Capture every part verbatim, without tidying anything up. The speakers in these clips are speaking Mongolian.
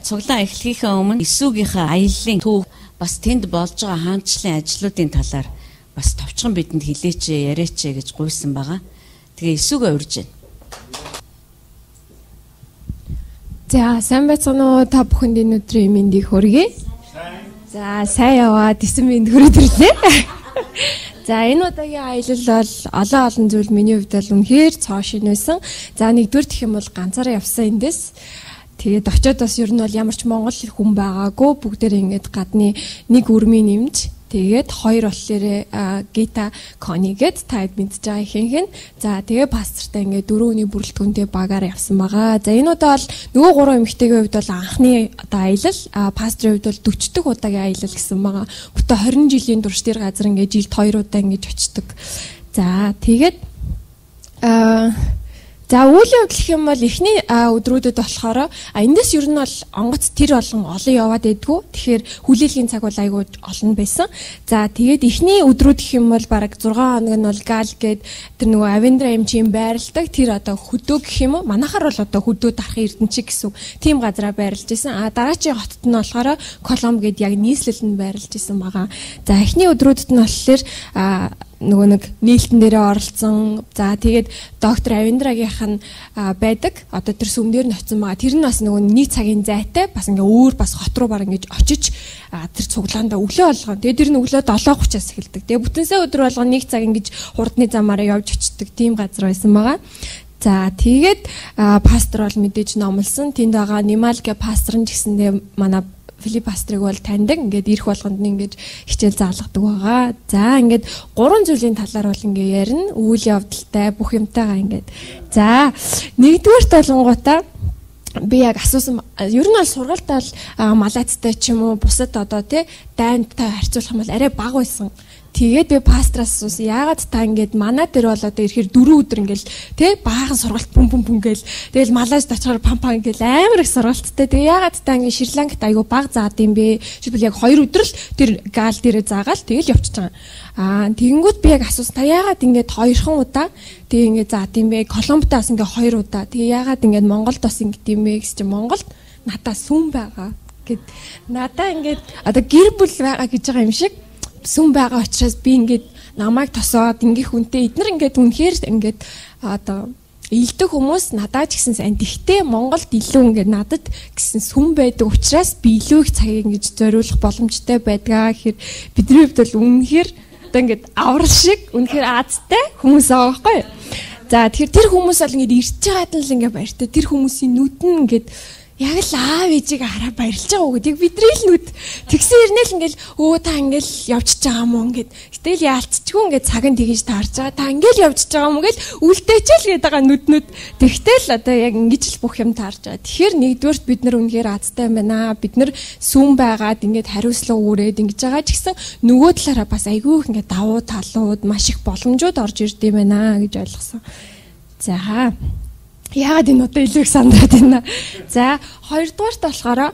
цуглаан эхлэхийнхээ өмнө Иесүгийнхээ аяллаа төв бас тэнд болж байгаа хаанчлалын ажлуудын талаар бас товчхон бидэнд хэлээч яриач гэж гуйсан байгаа. Тэгээ Иесүгээ урьж байна. За сайн байцгаана уу та бүхэнд энэ өдрийн мэндийг хүргэе. За сайн яваад эсэн мэнд хүрээд ирлээ. За энэ удаагийн аялал бол олон олон зүйл миний хувьд бол үнэхээр цоо шин байсан. За нэгдүгээр гэх юм бол ганцаараа явсан эндээс. Тэгээд очиод бас ер нь бол ямар ч монгол хүн байгаагүй бүгдээрээ ингээд гадны нэг үрмийн нэмж тэгээд хоёр болохоор Гита Конигээд таад мэдж байгаа ихэнх нь. За тэгээ пастортай ингээд дөрөв өдрийн бүрэлдэхүүнтэй багаар явсан байгаа. За энэ удаа бол нөгөө гурван эмэгтэйгийн хувьд бол анхны одоо аялал, пасторын хувьд бол дөрвөн дэх удаагийн аялал гэсэн байгаа. Бүтэ хорин жилийн турш тэр газар ингээд жилд хоёр удаа ингэж очдог. За тэгээд аа За үйл явдал гэх юм бол эхний өдрүүдэд болохоор эндээс ер нь бол онгоц тэр болон олон яваад байдгүй. Тэгэхээр хүлээлгийн цаг бол айгүй олон байсан. За тэгээд эхний өдрүүд гэх юм бол бараг зургаан хоног нь бол гал гээд тэр нөгөө Авендра эмчийн байрладаг тэр одоо хөдөө гэх юм уу? Манайхаар бол одоо хөдөө дарахын эрдэнчиг гэсэн тийм газараа байрлаж исэн. А дараачийн хотод нь болохоор Коломб гээд яг нийслэлд нь байрлаж исэн байгаа. За эхний өдрүүдэд нь болохоор нөгөө нэг нийлтэн дээрээ оролцсон. За тэгээд доктор Авендрагийнх нь байдаг. Одоо тэр сүмдэр нь очсон байгаа. Тэр нь бас нөгөө нэг цагийн зайтай бас ингээ өөр бас хот руу баг ингэж очиж тэр цуглаандаа өглөө болгоо. Тэгээд тэр нь өглөө долоо тридцатаас эхэлдэг. Тэгээд бүтэн сая өдөр болгоо нэг цаг ингэж хурдны замаараа явж очдог тийм газар байсан байгаа. За тэгээд пастор бол мэдээж номлосон. Тэнд байгаа Нималгэ пастор нь гэсэндээ манай Филипп пастрыг бол таньдаг. Ингээд ирэх болгонд нь ингээд хичээл заалгадаг байгаа. За ингээд гурван зүйлийн талаар бол ингээд ярина. Үйл явдалтай бүх юмтайгаа ингээд. За нэгдүгээр толонгуудаа би яг асуусан ер нь бол сургалтаа бол малайцтай ч юм уу бусад одоо тий дайнтай харьцуулах юм бол арай бага байсан. Тэгээд би пастраас асуусан. Яагаад та ингээд манай дээр бол одоо ирэхээр дөрөв өдөр ингээл тий баахан сургалт пүм пүм пүм гээл тэгэл Малайзд очихоор пам пам ингээл амар их сургалттай. Тэгээ яагаад та ингээд Шри-Ланкт айгу бага заад юм бэ? Жишээлбэл яг хоёр өдөр л тэр гал дээрээ заагаал тэгэл явчихж байгаа. Аа тэгэнгүүт би яг асуусан. Та яагаад ингээд хоёрхан удаа тэгээ ингээд заад юм бэ? Коломбтаас ингээд хоёр удаа. Тэгээ яагаад ингээд Монголд бас ингээд юм бэ гэж чи Монголд надаа сүм байгаа гэд надаа ингээд одоо гэр бүл байгаа гэж байгаа юм шиг сүм байгаа учраас би ингээд намайг тосоод ингээд хүнтэй эднэр ингээд үнэхээр ингээд одоо илдэг хүмүүс надад ч гэсэн сайн. Тэгтээ Монголд илүү ингээд надад гэсэн сүм байдаг учраас би илүү их цагийг ингэж зориулах боломжтой байдгаа гэхээр бидний хувьд бол үнэхээр одоо ингээд аврал шиг үнэхээр аазтай хүмүүс байгаа байхгүй. За тэгэхээр тэр хүмүүс бол ингээд ирж байгаад л ингээд баяртай. Тэр хүмүүсийн нүд нь ингээд яг л аав ээжийг хараа баярлж байгаа уу гэдэг бидний л нүд тэгсэн ирнэл ингээл өө та ингээл явчихж байгаа юм уу ингээд гэтэл яалтчгүй ингээд цаг нь тэгэж таарч байгаа та ингээл явчихж байгаа юм гэл үлдээчэл гээд байгаа нүднүүд тэгтэл одоо яг ингэж л бүх юм таарч байгаа. Тэгэхээр нэгдүгээрт бид нар үнэхээр азтай юм байна. Бид нар сүм байгаад ингээд хариуцлага үүрээд ингэж байгаа ч гэсэн нөгөө талаараа бас айгүй их ингээд давуу талууд маш их боломжууд орж ирд юм байна гэж ойлгосон. За яагаад энэ одоо илүү их сандраад байна. За хоёрдугаарт болохоор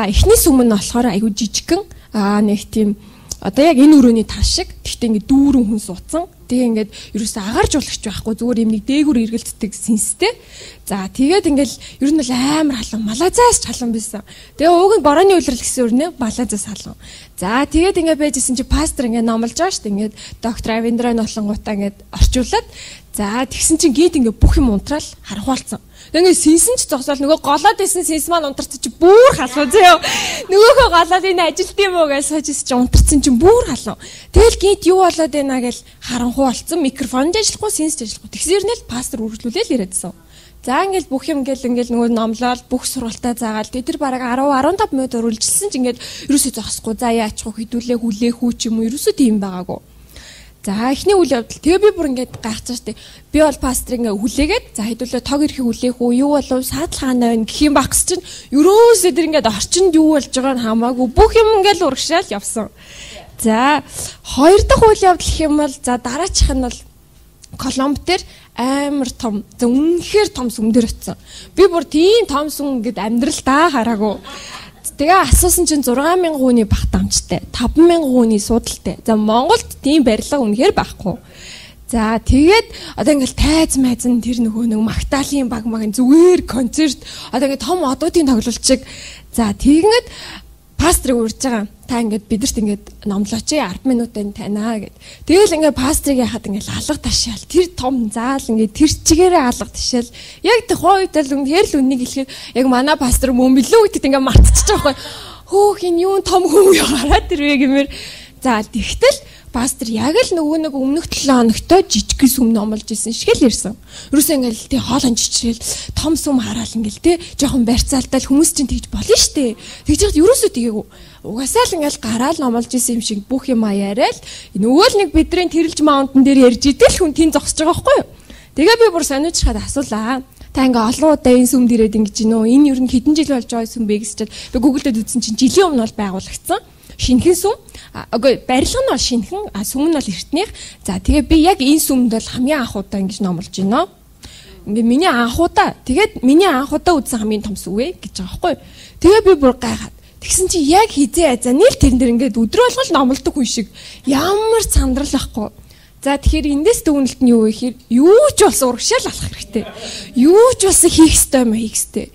эхний сүм нь болохоор айгүй жижигхэн нэг тийм одоо яг энэ өрөөний тал шиг гэхдээ ингээд дүүрэн хүн суудсан. Тэгээ ингээд ерөөсөө агаар жуулагч байхгүй зүгээр юм нэг дээгүр эргэлддэг сэнстэй. За тэгээд ингээд ер нь бол амар халуун Малайзаас ч халуун байсан. Тэгээ ууг нь борооны үйлрэл гэсэн өрнөө Малайзаас халуун. За тэгээд ингээд байжсэн чи пастор ингээд номлож байгаа шүү дээ. Ингээд доктор Авендра нотлонгуудаа ингээд орчуулад за тэгсэн чинь гид ингээд бүх юм унтраал харанхуалцсан. Ингээд синсэн ч зогсоол нөгөө голоод байсан синс маань унтарч чи бүр халуун зөө. Нөгөөхөө голоод энэ ажилт юм уу гэж сууж чи унтарсан чинь бүр халуун. Тэгэл гид юу болоод байна гэж харанхуу болсон. Микрофон ажиллахгүй, синс ажиллахгүй. Тэгсэрнэл пастор үргэлжлүүлээл яриадсан. За ингээл бүх юм ингээл ингээл нөгөө номлол бүх сургалтаа заагаал. Тэр бараг ten fifteen минут үргэлжилсэн чинь ингээд ерөөсөө зогсохгүй. За яачих вэ? Хідүүлээ хүлээх үү ч юм уу? Ерөөсөө тийм байгаагүй. За эхний үйл явдал. Тэгээ би бүр ингээд гайхаж штэ. Би бол пастрыг ингээ хүлээгээд за хэдүүлээ тог ирэхийг хүлээх үү? Юу болов? Саадлахаана байна гэх юм багс чинь ерөөсөө тэр ингээд орчинд юу болж байгааг нь хамаагүй бүх юм ингээл урагшаал явсан. За хоёр дахь үйл явдал гэх юм бол за дараачих нь бол Коломб дээр амар том, за үнэхээр том сүмдэр очсон. Би бүр тийм том сүм ингээд амьдралдаа хараагүй. Тэгээ асуусан чинь six thousand хүний бах дамжтай, five thousand хүний судалтай. За Монголд тийм барилга үнэхээр байхгүй. За тэгээд одоо ингээл тайз майзан тэр нөгөө нэг Магдалины баг магийн зүгээр концерт одоо ингээд том одуудын тоглолт шиг за тэгэнгэт пастрыг урьж байгаа. Та ингээд бидэрт ингээд номлооч ээ ард минутын танаа гэд. Тэгэл ингээд пастрыг яхад ингээд алга ташаал. Тэр том заал ингээд тэр чигээрээ алга ташаал. Яг тэр хойдол үнээр л үннийг хэлэхэд яг манай пастор мөн билүү гэдэгт ингээд мартчихж байгаа байхгүй. Хөөх энэ юу том хүн юу гараад ирвэ гэмээр. За тэгтэл пастор яг л нөгөө нэг өмнөх долоо хоногтой жижиг сүм номлож исэн шиг л ирсэн. Юусе ингээл тий хоолон чичрэл том сүм хараал ингээл тий жоохон барьцаалтал хүмүүс чинь тэгж болно штэ. Тэгж яхад юусоо тгээгүй. Угаасаа л ингээл гараал номлож исэн юм шиг бүх юм аяарай л нөгөө л нэг бидний тэрэлж маунтан дээр ярьж идэл хүн тийм зогсож байгаа байхгүй юу. Тэгээ би бүр сониучрахад асуулаа. Та ингээ олон удаа энэ сүмд ирээд ингэж гинөө. Энэ ер нь хэдэн жил болж байгаа сүм бэ гэсчихэд би Google-д үзсэн чинь жилийн өмнө бол байгуулагдсан. Шинхэн сүм. Үгүй барилга нь бол шинхэн, сүм нь бол эртнийх. За тэгээ би яг энэ сүмд бол хамгийн анх удаа ингэж номлож байна. Ингээ миний анх удаа. Тэгээд миний анх удаа үзсэн хамгийн том сүм ээ гэж байгаа байхгүй. Тэгээ би бүр гайхаад. Тэгсэн чи яг хизээ азаа нийл тэрэн дээр ингээд өдрө болгол номлодог хүн шиг ямар сандрал ахгүй. За тэгэхээр эндээс дүгнэлт нь юу вэ гэхээр юу ч болсон урагшаал алах хэрэгтэй. Юу ч болсон хийх ёстой юм хийх ёстой.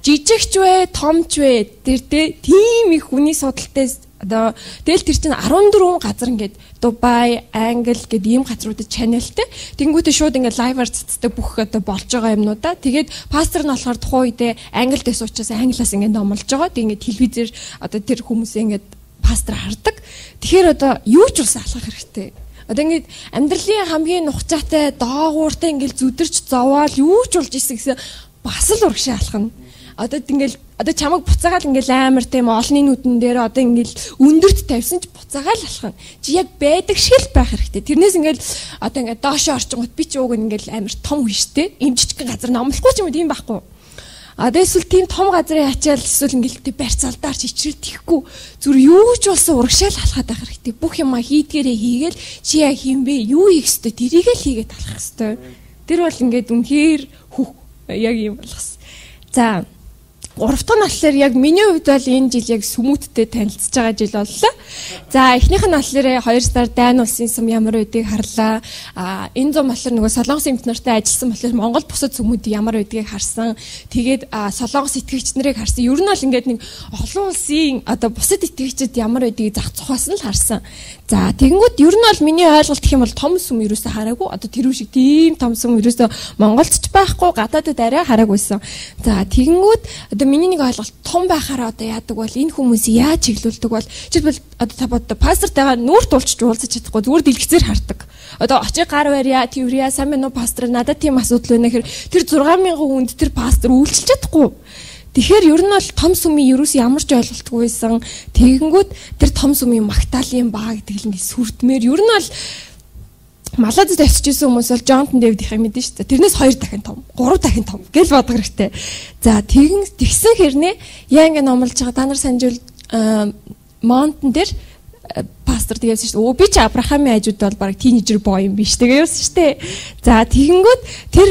Жижигч вэ, томч вэ тэр тийм их хүний судалтай одоо тэгэл тэр чинь арван дөрвөн газар ингээд Дубай, Англи гэд ийм газруудад чаналтай. Тэнгүүтээ шууд ингээд лайваар цацдаг бүх одоо болж байгаа юмнуудаа. Тэгээд пастор нь болохоор тухайн үедээ Англид байсан учраас англиас ингээд номлож байгаа. Тэг ингээд телевизээр одоо тэр хүмүүсээ ингээд пастор хардаг. Тэгэхээр одоо юу ч улс алхах хэрэгтэй. Одоо ингээд амьдралын хамгийн нухацаатай доогууртай ингээд зүдэрч зовоол юу ч болж исэн гэсэн бас л урагшаа алхана. Одоо ингээл одоо чамайг буцаагаал ингээл амар тийм олонний нүдэн дээр одоо ингээл өндөрт тавьсан ч буцаагаал алхана. Чи яг байдаг шиг л байх хэрэгтэй. Тэрнээс ингээл одоо ингээд доошоо орчингууд би ч ууг ингээл амар том хүн штэ. Им жижиг газар номлохгүй ч юм тийм байхгүй. А эсвэл тийм том газрын ачаал эсвэл ингээл тийм барьцаалдаар чичрэл тихгүй зүр юу ч болсон урагшаал алхаад байх хэрэгтэй. Бүх юма хийдгээрээ хийгээл чи яг юм бэ? Юу хийх ёстой? Тэрийг л хийгээд алхах ёстой. Тэр бол ингээд үнэхээр хүх яг юм болгосон. За гурав дахь нь болохоор яг миний хувьд бол энэ жил яг сүмүүттэй танилцж байгаа жил боллоо. За эхнийх нь болохоор хоёр сар дайн улсын сүм ямар байдгийг харлаа. А энэ зам болохоор нөгөө Солонгос эмч нартай ажилласан болохоор Монгол бусад сүмүүд ямар байдгийг харсан. Тэгээд Солонгос итгэгч нарыг харсан. Ер нь бол ингээд нэг олон улсын одоо бусад итгэгчид ямар байдгийг зах цухаас нь л харсан. За тэгэнгүүт ер нь бол миний ойлголт гэх юм бол том сүм ерөөсө хараагүй. Одоо тэр шиг тийм том сүм ерөөсө Монголд ч байхгүй, гадаадд арай хараагүйсэн. За тэгэнгүүт одоо миний нэг ойлголт том байхаараа одоо яадаг бол энэ хүмүүсийг яаж чиглүүлдэг бол жишээлбэл одоо та бод пастортайгаа нүүр тулчж уулзаж чадахгүй зүгээр дэлгэцээр хардаг. Одоо очиг гар барья, тэрвэрья, сайн мэн үү пастор надад тийм асуудал байна гэхээр тэр зургаан мянган хүнд тэр пастор үйлчилж чадахгүй. Тэгэхээр ер нь бол том сүмийн ерөөс ямар ч ойлголтгүй байсан. Тэгэнгүүт тэр том сүмийн Магдалины баа гэдэг л ингэ сүрдмээр ер нь бол Малайзад очижсэн хүмүүс бол Джонтон Дэвид их мэдэн шүү дээ. Тэрнээс хоёр дахин том, гурав дахин том гэл бодох хэрэгтэй. За тэгэн тэгсэн хэрнээ яа ингэ номлож байгаа та нар санжуул Монтон дээр пастор тэгээс шүү дээ. Өө би ч Авраамийн хажууд бол баг тийнейжер боо юм биш тэгээ явсан шүү дээ. За тэгэнгүүт тэр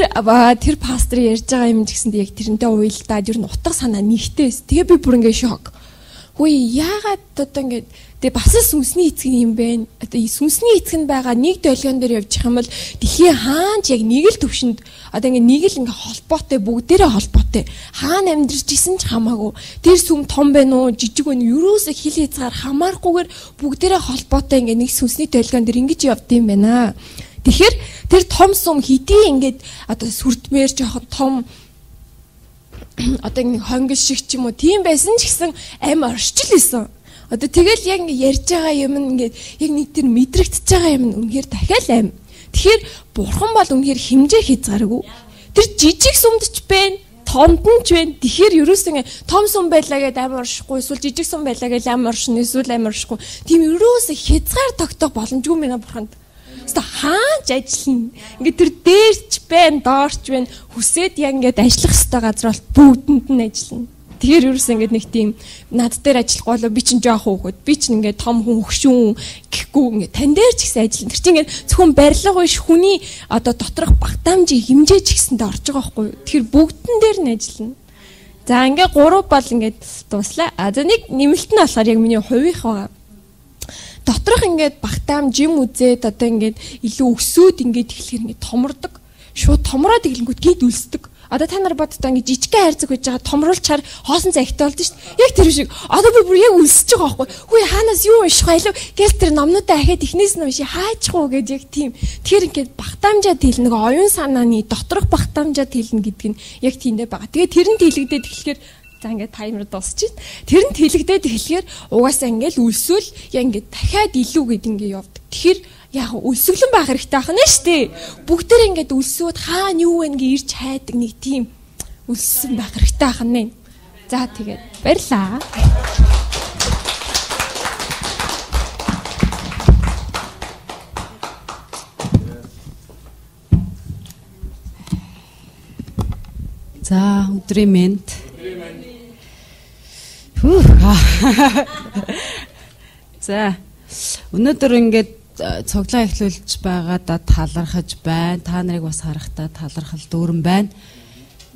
тэр пастор ярьж байгаа юм гэсэн яг тэрнтэй уйлдаад ер нь утга санаа нэгтэйс. Тэгээ би бүр ингэ шок. Хөөе яагаад одоо ингэ тэгээ бас сүнсний эцэг юм бэ? Одоо сүнсний эцэг нь байгаа нэг долгион дээр явж байгаа юм бол дэлхийн хаанч яг нэг л төвшөнд одоо ингэ нэг л ингэ холбоотой бүгдээрээ холбоотой. Хаана амьдарч исэн ч хамаагүй. Тэр сүм том байна уу, жижиг байна уу? Юурээс хил хязгаар хамаарахгүйгээр бүгдээрээ холбоотой ингэ нэг сүнсний долгион дээр ингэж явд юм байна. Тэгэхээр тэр том сүм хэдий ингэж одоо сүрдмээр жоохон том одоо ингэ хонгил шиг ч юм уу тийм байсан ч гэсэн амь оршил исэн. Одоо тэгэл яг ингэ ярьж байгаа юм ингээд яг нэг тэр мэдрэгдэж байгаа юм үнэхээр дахиад аим. Тэгэхээр бурхан бол үнэхээр хэмжээ хязгааргүй. Тэр жижиг сүмдч байна, томд нь ч байна. Тэгэхээр ерөөс ингэ том сүм байлаа гэдээ амь оршихгүй, эсвэл жижиг сүм байлаа гэдээ амь оршин, эсвэл амь оршихгүй. Тийм ерөөс хязгаар тогтоох боломжгүй мэнэ бурханд. Өөртөө хаач ажиллана. Ингээд тэр дээрч байна, доорч байна. Хүсээд яг ингээд ажиллах ёстой газар бол бүгдэнд нь ажиллана. Тэгэхээр ерөөс ингээд нэг тийм над дээр ажиллахгүй болоо би чинь жоох хөөхөд би чинь ингээд том хүн хөгшүүн гэхгүй ингээд тань дээр ч гэсэн ажиллана. Тэр чинь ингээд зөвхөн барилга биш хүний одоо доторх багтаамжийн хэмжээ ч гэсэндээ орж байгаа байхгүй юу. Тэгэхээр бүгдэн дээр нь ажиллана. За ингээд гурав бол ингээд дуслаа. А за нэг нэмэлт нь болохоор яг миний хувийнх байгаа. доторх ингээд багтаам жим үзээд одоо ингээд илүү өсөөд ингээд эхлэхээр ингээд томордог. Шууд томроод иглэнгүүт гид үлсдэг. Одоо та нар боддоо ингээд жижигхэн хайрцаг байж байгаа томруулчаар хоосон цагтай болд нь шүү дээ. Яг тэр шиг. Одоо би бүр яг үлсэж байгаа байхгүй. Хүй хаанаас юу унших байлаа? Гэл тэр номнуудаа ахаад ихнээс нь унши хаачих уу гэж яг тийм. Тэгэхээр ингээд багтаамжаад хэлнэ. Нэг оюун санааны доторх багтаамжаад хэлнэ гэдэг нь яг тиймдээ байгаа. Тэгээд тэрэнд хэлэгдээд эхлэхээр за ингээд таймер дуусчих. Тэрэнд хэлэгдээд эхлэхээр угаасаа ингээд үлсүүл яг ингээд дахиад илүү гэд ингээд явдаг. Тэгэхээр яг үлсгэлэн байх хэрэгтэй ахна штэ. Бүгдээр ингээд үлсүүд хаана юу вэ гэж ирж хайдаг нэг тийм үлссэн байх хэрэгтэй ахна. За тэгээд баярлаа. За өдрийн мэнд. За өнөөдөр ингээд цоглоо эхлүүлж байгаадаа талархаж байна. Та нарыг бас харахтаа талархал дүүрэн байна.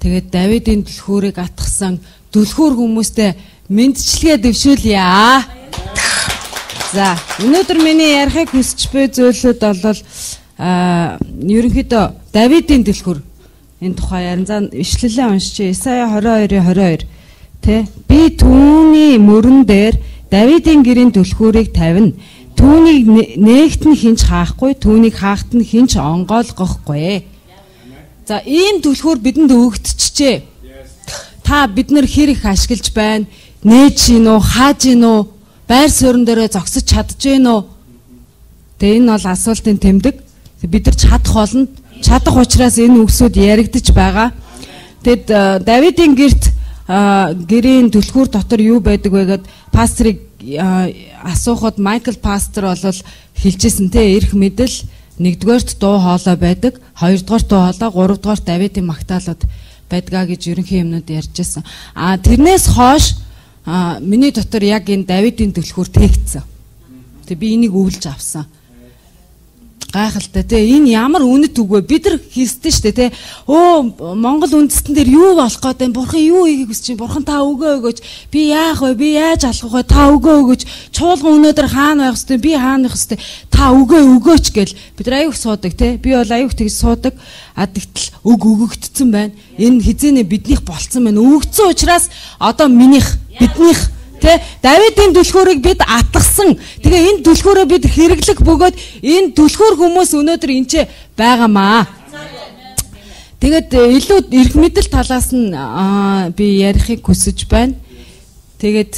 Тэгээд Давидын түлхүүрийг атгсан түлхүүр хүмүүстэй мэндчилгээ дэвшүүлье. За өнөөдөр миний ярихыг хүсэж буй зүйлүүд бол а ерөнхийдөө Давидын түлхүүр энэ тухай ярин за ишлэлээ уншиж Исая двадцать two twenty-two тэ би түүний мөрөн дээр Давидын гэрийн түлхүүрийг тавина. Түүнийг нээгт нь хинч хаахгүй, түүнийг хаахт нь хинч онгойлгохгүй. За ийм түлхүүр бидэнд өгөгдчихжээ. Та бид нар хэр их ашиглаж байна? Нээж гин үү, хааж гин үү? Байр суурин дээрээ зогсож чадж гин үү? Тэгээ энэ бол асуултын тэмдэг. Бид нар чадах болно. Чадах учраас энэ үгсүүд яригдж байгаа. Тэгэд Давидын гэрт гэрийн түлхүүр дотор юу байдаг вэ гэд пастрыг асуухад Майкл пастор бол хэлжсэн те эрх мэдэл нэгдүгээрт дуу хоолой байдаг, хоёрдугаарт дуу хоолой, гуравдугаарт Давидын магтаалууд байдгаа гэж ерөнхий юмнууд ярьжсэн. А тэрнээс хойш миний дотор яг энэ Давидын түлхүүр тээгдсэн. Тэг би энийг өвлж авсан. Гайхалтай те энэ ямар үнэт үг вэ? Бид нар хийсдэн штэ те. Өө Монгол үндэстэн дээр юу болох гээд байна? Бурхан юу хийхийг хүсэж байна? Бурхан та өгөө өгөөч. Би яах вэ? Би яаж алхах вэ? Та өгөө өгөөч. Чуулган өнөөдөр хаана байх хэвтэй? Би хаана байх хэвтэй? Та өгөө өгөөч гэл бид нар аюух суудаг те. Би бол аюух тэгж суудаг. А тэгтэл өг өгөгдсөн байна. Энэ хизээнэ биднийх болцсон байна. Өгөгдсөн учраас одоо минийх, биднийх тэ Давидын түлхүүрийг бид атгсан. Тэгээ энэ түлхүүрээ бид хэрэглэх бөгөөд энэ түлхүүр хүмүүс өнөөдөр энд ч байгаамаа. Тэгээд илүү эрх мэдэл талаас нь би ярихыг хүсэж байна. Тэгээд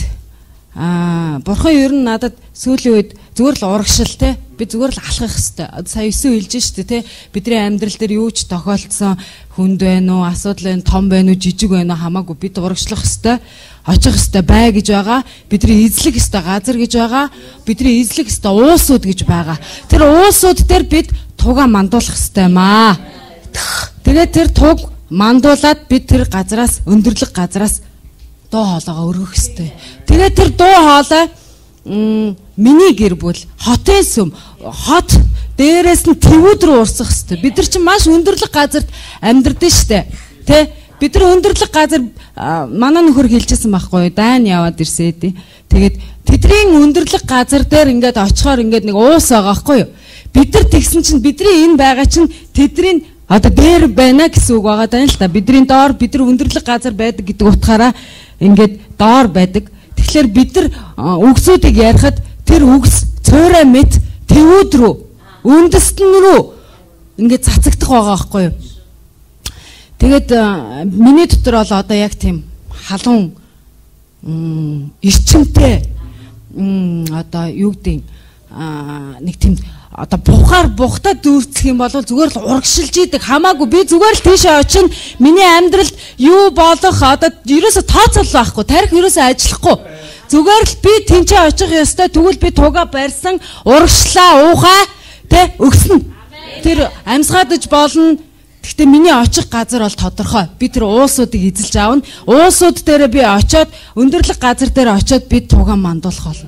бурхан ер нь надад сүүлийн үед зүгээр л урагшил те би зүгээр л алхах хэвээр. Сая өсөө хэлж штэ те бидний амьдрал дээр юу ч тохиолдсон хүнд байна уу, асуудал байна, том байна уу, жижиг байна уу хамаагүй бид урагшлах хэвээр. Очих хэвээр бай гэж байгаа. Бидний эзлэх хэвээр газар гэж байгаа. Бидний эзлэх хэвээр уусууд гэж байгаа. Тэр уусууд дээр бид туга мандуулах хэвээр маа. Тэгээд тэр туг мандуулаад бид тэр газраас өндөрлөг газраас дуу хоолойгоо өргөх хэвээр. Тэгээд тэр дуу хоолой миний гэр бүл хотын сүм хот дээрээс нь твүүд рүү урсах хэвээр. Бид нар чинь маш өндөрлөг газарт амьдрдэн штэ. Тэ бид нар өндөрлөг газар манай нөхөр хэлжсэн байхгүй дайн яваад ирсээд. Тэгээд тэдний өндөрлөг газар дээр ингээд очихоор ингээд нэг уус байгаа байхгүй юу? Бид нар тэгсэн чинь бидний энэ байгаа чинь тэдний одоо дээр байна гэсэн үг байгаа даа л та. Бидний доор бид нар өндөрлөг газар байдаг гэдэг утгаараа ингээд доор байдаг. Тэгэхээр бид нар үгсүүдийг ярихад тэр үгс цөөрэ мэд твүүд рүү үндэстэн рүү ингээд цацагдах байгаа байхгүй юу? Тэгээд миний дотор бол одоо яг тийм халуун эрчимтэй одоо юу гэдэг нэг тийм одоо бухаар бухтаа дүүрцэх юм бол зүгээр л урагшилж идэг хамаагүй би зүгээр л тийшээ очино миний амьдралд юу болох одоо ерөөсө тооцоол байхгүй тарих ерөөсө ажиллахгүй зүгээр л би тэнцээ очих ёстой тэгвэл би туга барьсан урагшлаа уухаа тэ өгснө тэр амьсгаадж болно. Гэхдээ миний очих газар бол тодорхой. Би тэр уусуудыг эзэлж аавна. Уусууд дээр би очиод өндөрлөг газар дээр очиод би тугаан мандуулах болно.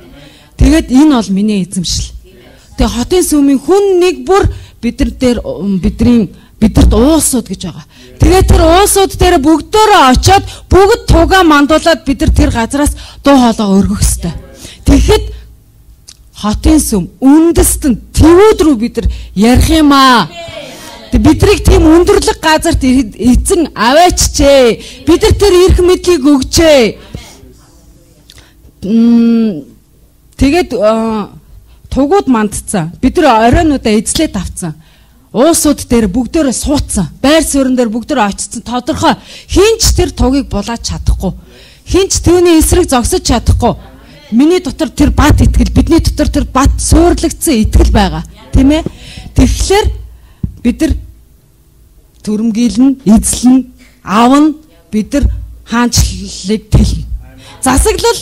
Тэгээд энэ бол миний эзэмшил. Тэгээ хотын сүмийн хүн нэг бүр бидэр дээр бидний бидэрт уусууд гэж байгаа. Тэгээд тэр уусууд дээр бүгдөө очиод бүгд тугаан мандуулаад бид нар тэр газараас дуу хоолой өргөх ёстой. Тэгэхэд хотын сүм үндэстэн твүүд рүү бид нар ярих юм аа. Бидрийг тийм өндөрлөг газарт эзэн аваачжээ. Бид нар тэр эрх мэдлийг өгчээ. Тэгээд тугууд мандцсан. Бид нар оройнуудаа эзлээд авцсан. Уусууд дээр бүгдөө суудсан. Байр суурин дээр бүгдөө очсон. Тодорхой хинч тэр тугийг булаач чадахгүй. Хинч түүний эсрэг зогсож чадахгүй. Миний дотор тэр бат итгэл, бидний дотор тэр бат суурлагдсан итгэл байгаа. Тийм ээ? Тэгэхээр бид нар төрөмгийлнэ, эзлэн, аавн, бид нар хаанчлалыг тэлнэ. Засаглал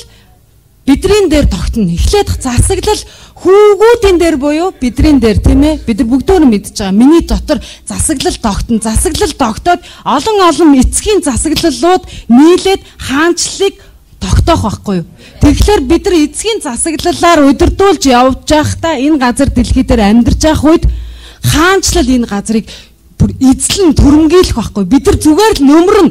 бидний дээр тогтно. Эхлээд засаглал хүүгүүдийн дээр буюу бидний дээр, тийм ээ? Бид нар бүгдөө мэдж байгаа. Миний дотор засаглал тогтно. Засаглал тогтоод олон олон эцгийн засаглалууд нийлээд хаанчлалыг тогтоох байхгүй юу? Тэгэхээр бид нар эцгийн засаглалаар удирдуулж явж байхдаа энэ газар дэлхий дээр амьдарч байх үед хаанчлал энэ газрыг бүр эзлэн төрөмгийлэх байхгүй. Бид нар зүгээр л нөмрөн.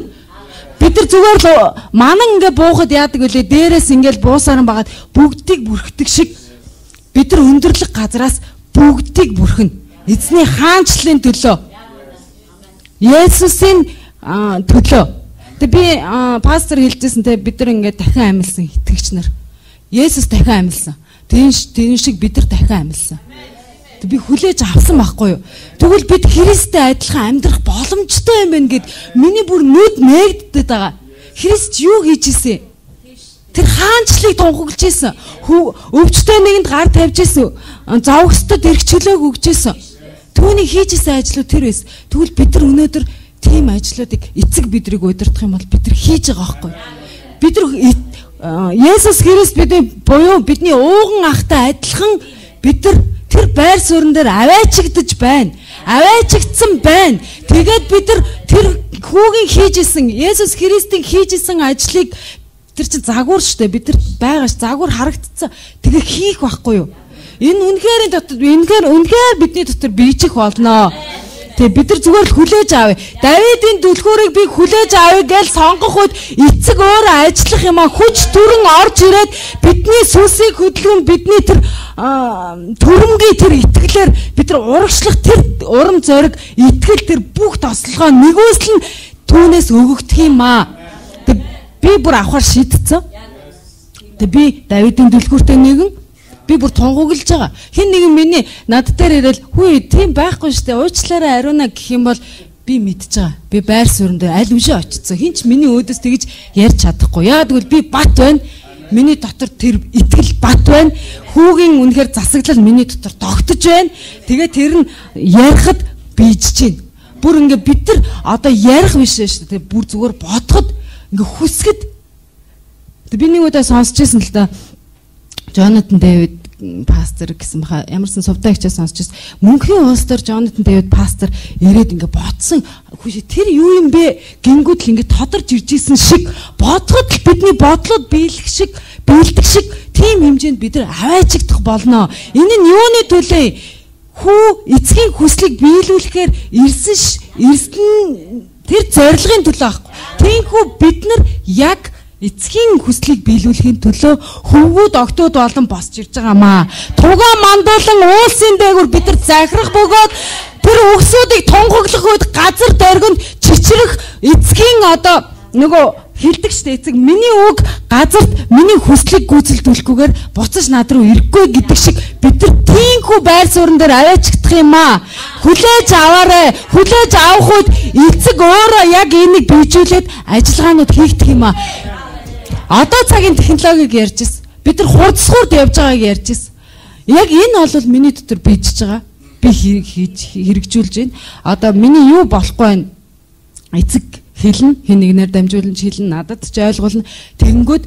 Бид нар зүгээр л манан ингээ буухад яадаг вүлээ? Дээрээс ингээл буусааран багаад бүгдийг бүрхдэг шиг бид нар өндөрлөг газраас бүгдийг бүрхэн. Эзний хаанчлалын төлөө. Есүсийн төлөө. Тэг би пастор хэлжсэн те бид нар ингээ дахин амьлсан итгэгч нар. Есүс дахин амьлсан. Тэн тэн шиг бид нар дахин амьлсан. Би хүлээж авсан байхгүй юу. Тэгвэл бид Христтэй адилхан амьдрах боломжтой юм байна гэд миний бүр нүд нээгддэг байгаа. Христ юу хийж исэн? Тэр хаанчлалыг тунхаглаж исэн. Өвчтөе нэгэнд гар тавьж исэн. Зовгостод эрх чөлөөг өгч исэн. Түүний хийж исэн ажлууд тэр байсан. Тэгвэл бид нар өнөөдөр тийм ажлуудыг эцэг бидрийг удирдах юм бол бид нар хийж байгаа байхгүй юу. Бид нар Есүс Христ бидний буюу бидний ууган ахтай адилхан бид нар тэр байр суурин дээр аваачигдж байна. Аваачигдсан байна. Тэгээд бид нар тэр хүүгийн хийж исэн Есүс Христийн хийж исэн ажлыг тэр чинь загвар штэ бид нар байгаа ш загвар харагдцсан. Тэгээ хийх байхгүй юу? Энэ үнэхээр дотор үнэхээр үнэхээр бидний дотор биечих болно. Тэгээ бид нар зүгээр л хүлээж авъя. Давидын түлхүүрийг би хүлээж авъя гэж сонгох үед эцэг өөрөө ажиллах юм а хүч төрөн орж ирээд бидний сүнсийг хөдөлгөн бидний тэр төрөмгийн тэр итгэлээр бид нар урагшлах тэр урам зориг итгэл тэр бүх тослогоо нэгүслэн түүнээс өгөгдөх юм а. Тэг би бүр авахар шийдсэн. Тэг би Давидын түлхүүртэй нэгэн би бүр тунхаглаж байгаа. Хин нэгэн миний над дээр ирэл хүү тийм байхгүй штэ уучлаарай ариуна гэх юм бол би мэдж байгаа. Би байр суурин дээр аль үшээ очицсан. Хин ч миний өөдөөс тэгж ярьж чадахгүй. Яа тэгвэл би бат байна. Миний дотор тэр итгэл бат байна. Хүүгийн үнэхээр засаглал миний дотор тогтож байна. Тэгээ тэр нь ярихад бийжж байна. Бүр ингээ бид нар одоо ярих биш шүү дээ. Бүр зүгээр бодоход ингээ хүсгэд. Би нэг удаа сонсч байсан л да. Jonathan David пастор гэсэн баха ямарсан сувтай хичээл сонсч байсан. Мөнхийн улс дээр Jonathan David пастор ирээд ингээ бодсон. Хөөе тэр юу юм бэ? Гингүүд л ингээ тодорж ирж исэн шиг бодоход л бидний бодлоод биелэх шиг биелдэг шиг тийм хэмжээнд бид нар аваачигдах болно. Энэ нь юуны төлөө? Хүү эцгийн хүслийг биелүүлэхээр ирсэн ирсэн тэр зорилгын төлөө аахгүй. Тиймээс бид нар яг эцгийн хүслийг биелүүлэхийн төлөө хөвгүүд октод болон босч ирж байгаамаа. Тугаа мандуулан уулсын дээгүүр бид нар захирах бөгөөд тэр өгсүүдийг тунхаглах үед газар дөргөнд чичрэх эцгийн одоо нөгөө хилдэг штэ эцэг миний үг газарт миний хүслийг гүйцэлдүүлэхгүйгээр буцаж над руу ирэхгүй гэдэг шиг бид нар тийхүү байр суурин дээр аваачигдах юм аа. Хүлээж аваарэ. Хүлээж авах үед эцэг өөрөө яг энийг bijүүлээд ажиллагаанууд хийгдэх юм аа. Одоо цагийн технологиг ярьж ирсэн. Бид нар хурцсуурд явж байгааг ярьж ирсэн. Яг энэ бол миний дотор bijж байгаа. Би хийж хэрэгжүүлж байна. Одоо миний юу болохгүй байна? Эцэг хэлнэ, хэн нэгнээр дамжуулан хэлнэ, надад ч ойлгуулна. Тэгэнгүүт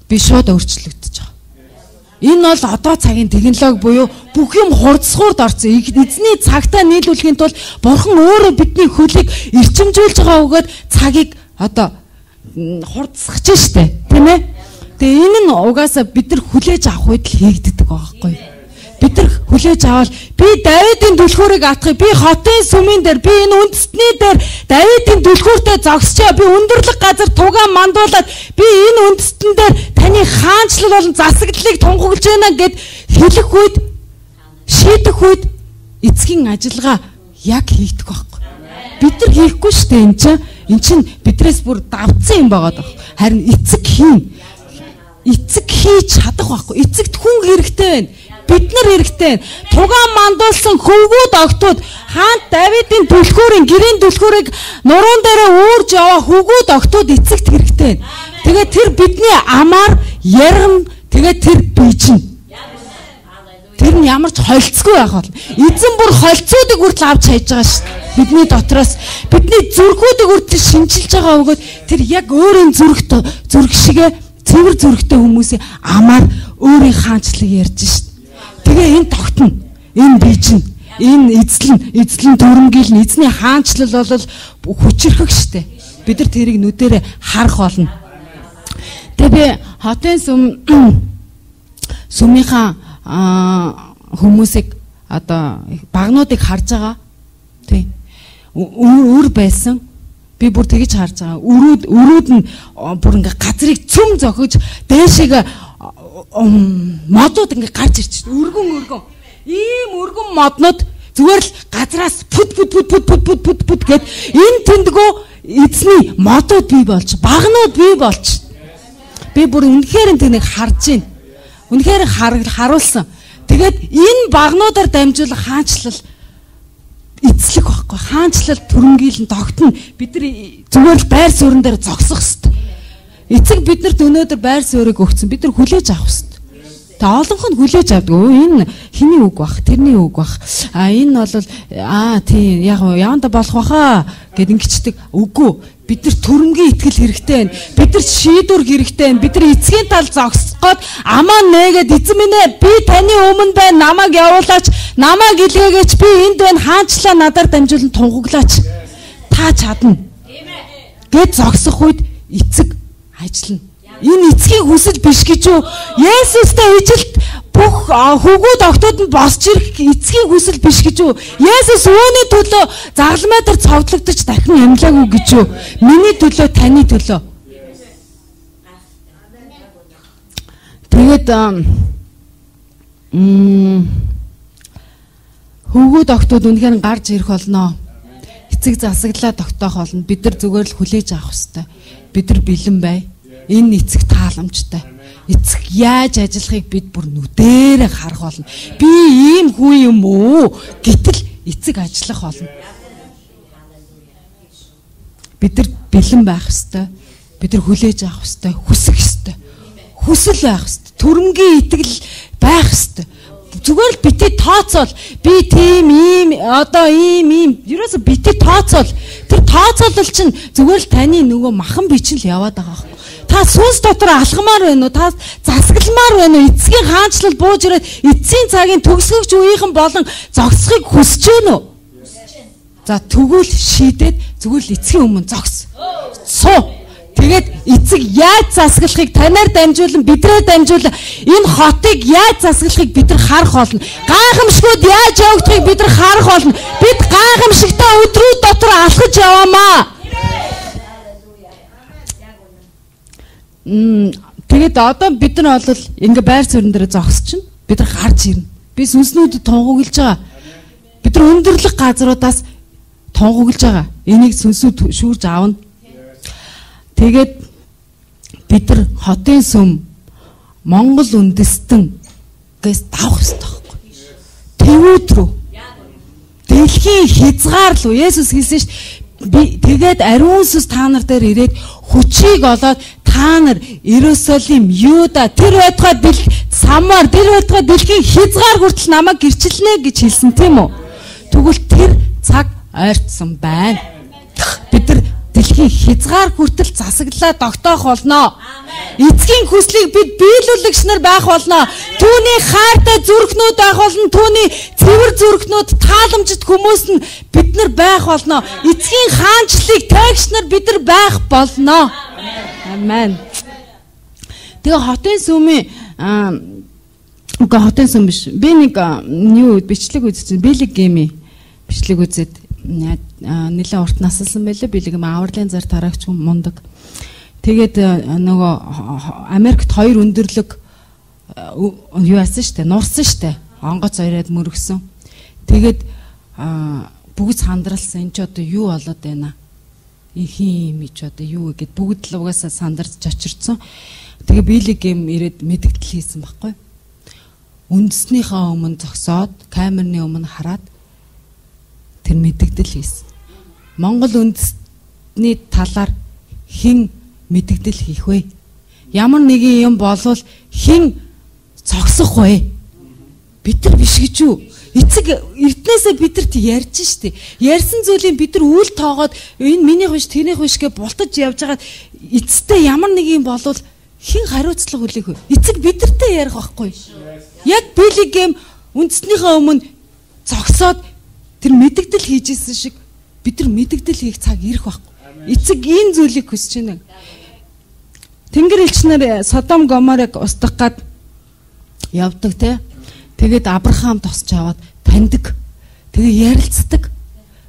би шууд өөрчлөгдөж байгаа. Энэ бол одоо цагийн технологи буюу бүх юм хурцсуурд орсон. Эзний цагтаа нийлүүлэхийн тулд Бурхан өөрөө бидний хөлийг эрчимжүүлж байгаа бөгөөд цагийг одоо хурцсах ч штэ, тийм ээ. Тэгээ энэ нь угаасаа бид нар хүлээж авах үед л хийгддэг байгаа байхгүй юу? Бид нар хүлээж аваад би Давидын түлхүүрийг атгах, би хотын сүмийн дээр, би энэ үндэстний дээр Давидын түлхүүртэй зогсчоо, би өндөрлөг газар тугаан мандуулаад би энэ үндэстэн дээр таны хаанчлал болон засаглалыг тунхаглаж байна гэд хэлэх үед шийдэх үед эцгийн ажиллагаа яг хийгдэх байхгүй. Бид нар хийхгүй шүү дээ энэ чинь. Энд чинь бидрээс бүр давцсан юм байгаа даа. Харин эцэг хийн. Эцэг хийж чадах байхгүй. Эцэгт хүн хэрэгтэй байна. Бид нар хэрэгтэй байна. Тугаан мандуулсан хөвгүүд огтуд хаант Давидын түлхүүрийн гэрийн түлхүүрийг нуруунд дээрээ уурж яваа хөвгүүд огтуд эцэгт хэрэгтэй байна. Тэгээд тэр бидний амаар яргам тэгээд тэр бийжин. Тэр нь ямар ч холцгүй байх бол. Эзэн бүр холцоодыг хүртэл авч хайж байгаа шүү дээ. Бидний дотроос бидний зүрхүүдийг хүртэл шинжилж байгаа өгөөд тэр яг өөрийн зүрх зүрх шигэ цэвэр зүрхтэй хүмүүсийн амаар өөрийн хаанчлыг ярьж шүү дээ. Тэгээ энэ тогтно. Энэ бийжин. Энэ эзлэн, эзлэн төрөмгийлн эзний хаанчлал бол хүчрхэг шүү дээ. Бид нар тэрийг нүдэрээ харах болно. Тэгээ би хотын сүм сүмийнхаа хүмүүсийг одоо багнуудыг харж байгаа. Тий. Үр байсан. Би бүр тэгж харж байгаа. Өрүүд өрүүд нь бүр ингээ газрыг цөм зохиж дээшээ модууд ингээ гарч ирж байна. Өргөн өргөн. Ийм өргөн моднууд зүгээр л газраас пүт пүт пүт пүт пүт пүт пүт пүт гэд энэ тэндгөө эзний модууд бий болж, багнууд бий болж. Би бүр үнэхээр тэнийг харж байна. Үнэхээр харуулсан. Тэгээд энэ багнуудаар дамжуулах хаанчлал эзлэх байхгүй. Хаанчлал төрөмгийлэн тогтно. Бид нар зүгээр л байр суурин дээр зогсох ёстой. Эцэг биднэрт өнөөдөр байр суурийг өгсөн. Бид нар хүлээж авах ёстой. Тэ олонх нь хүлээж авдаг. Энэ хэний үг бах, тэрний үг бах. А энэ бол аа тий яг яванда болох баха гэд ингэчдэг. Үгүй. Бид нар төрөмгийн итгэл хэрэгтэй байна. Бид нар шийдвэр хэрэгтэй байна. Бид нар эцгийн тал зогсгоод амаа нээгээд эзэн минь ээ би таны өмнө байна. Намайг явуулаач. Намайг илгээгээч. Би энд байна. Хаанчлаа надаар дамжуулан тунхаглаач. Та чадна. Гэт зогсох үед эцэг ажиллана. Энэ эцгийн хүсэл биш гэж юу? Есүстэй ижилт бүх хөвгүүд огтуд нь босч ирэх эцгийн хүсэл биш гэж юу? Есүс үүний төлөө загалмай дээр цовдлогдож дахин амьлаагүй гэж юу? Миний төлөө, таны төлөө. Тэгээд м хөвгүүд огтуд үнэхээр гарч ирэх болно. Эцэг засаглаа тогтоох болно. Бид нар зүгээр л хүлээж авах хэрэгтэй. Бид нар бэлэн бай. Энэ эцэг тааламжтай. Эцэг яаж ажиллахыг бид бүр нүдэрээ харах болно. Би ийм хүн юм уу? Гэтэл эцэг ажиллах болно. Бид нар бэлэн байх ёстой. Бид нар хүлээж авах ёстой. Хүсэх ёстой. Хүсэл байх ёстой. Төрөмгийн итгэл байх ёстой. Зүгээр л бити тооцоол. Би тийм ийм одоо ийм ийм ерөөсө бити тооцоол. Тэр тооцоолол чинь зүгээр л таны нөгөө махан бичил яваад байгаа юм. Та сүнс дотор алхамаар байна уу? Та засагламаар байна уу? Эцгийн хаанчлал бууж ирээд эцсийн цагийн төгсгөгч үеийнхэн болон зогсохыг хүсэж байна уу? За тэгвэл шийдээд зүгээр л эцгийн өмнө зогс. Суу. Тэгээд эцэг яаж засаглахыг танаар дамжуулан бидрээ дамжуулан энэ хотыг яаж засаглахыг бид нар харах болно. Гайхамшгууд яаж явагдахыг бид нар харах болно. Бид гайхамшигтай өдрүүд дотор алхаж яваамаа. Мм тэгээд одоо бид нар бол ингээ байр суурин дээр зогсчихно. Бид нар гарч ирнэ. Би сүнснүүдэд тунхаглаж байгаа. Бид нар өндөрлөх газруудаас тунхаглаж байгаа. Энийг сүнсүүд шүүрж аавна. Тэгээд бид нар хотын сүм Монгол үндэстэн гэс давах хэрэгтэй байхгүй. Тэвүүд рүү. Дэлхийн хязгаар руу Есүс хэлсэн шүү дээ. Би тэгээд ариун сүнс та нар дээр ирээд хүчийг олоод та нар Иерусалим, Юда тэр байтугай дэл Самар тэр байтугай дэлхийн хязгаар хүртэл намайг гэрчилнэ гэж хэлсэн тийм үү? Тэгвэл тэр цаг ойртсон байна. Бид нар дэлхийн хязгаар хүртэл засаглаа тогтоох болно. Эцгийн хүслийг бид биелүүлэгч нар байх болно. Түүний хайртай зүрхнүүд байх болно. Түүний цэвэр зүрхнүүд тааламжит хүмүүс нь бид нар байх болно. Эцгийн хаанчлалыг таягч нар бид нар байх болно. Амен. Тэгээ хотын сүмийн үгүй хотын сүм биш. Би нэг юу бичлэг үзсэн. Билег гейми бичлэг үзээд нэлээд урт насалсан байлаа. Билег юм авралын зар тараагч мундаг. Тэгээд нөгөө Америкт хоёр өндөрлөг юу яасан штэ, нурсан штэ. Онгоц ороод мөрөгсөн. Тэгээд бүгд сандралсан. Энд ч одоо юу болоод байна? Ихим ич одоо юу гэд бүгд л угаасаа сандарч очирцсан. Тэгээ Билигем ирээд мэдгдэл хийсэн байхгүй. Үндэснийхээ өмнө зогсоод камерны өмнө хараад тэр мэдгдэл хийсэн. Монгол үндэсний талаар хэн мэдгдэл хийх вэ? Ямар нэгэн юм болвол хэн цогсох вэ? Бид нар биш гэж юу? Эцэг эрднээсээ бидэрт ярьж штэ. Ярьсан зүйлийг бид нар үл тоогоод энэ минийх биш, тэрнийх биш гэж бултаж явж байгаад эцэстээ ямар нэг юм болвол хэн хариуцлага хүлээх вэ? Эцэг бидэртээ ярих байхгүй. Яг Билигем үндэснийхээ өмнө зогсоод тэр мэдгдэл хийжсэн шиг бид нар мэдгдэл хийх цаг ирэх байхгүй. Эцэг энэ зүйлийг хүсэж байна. Тэнгэр элчнэр Содом Гоморыг устгах гад явдаг те. Тэгээд Авраам тосч аваад таньдаг. Тэгээ ярилцдаг.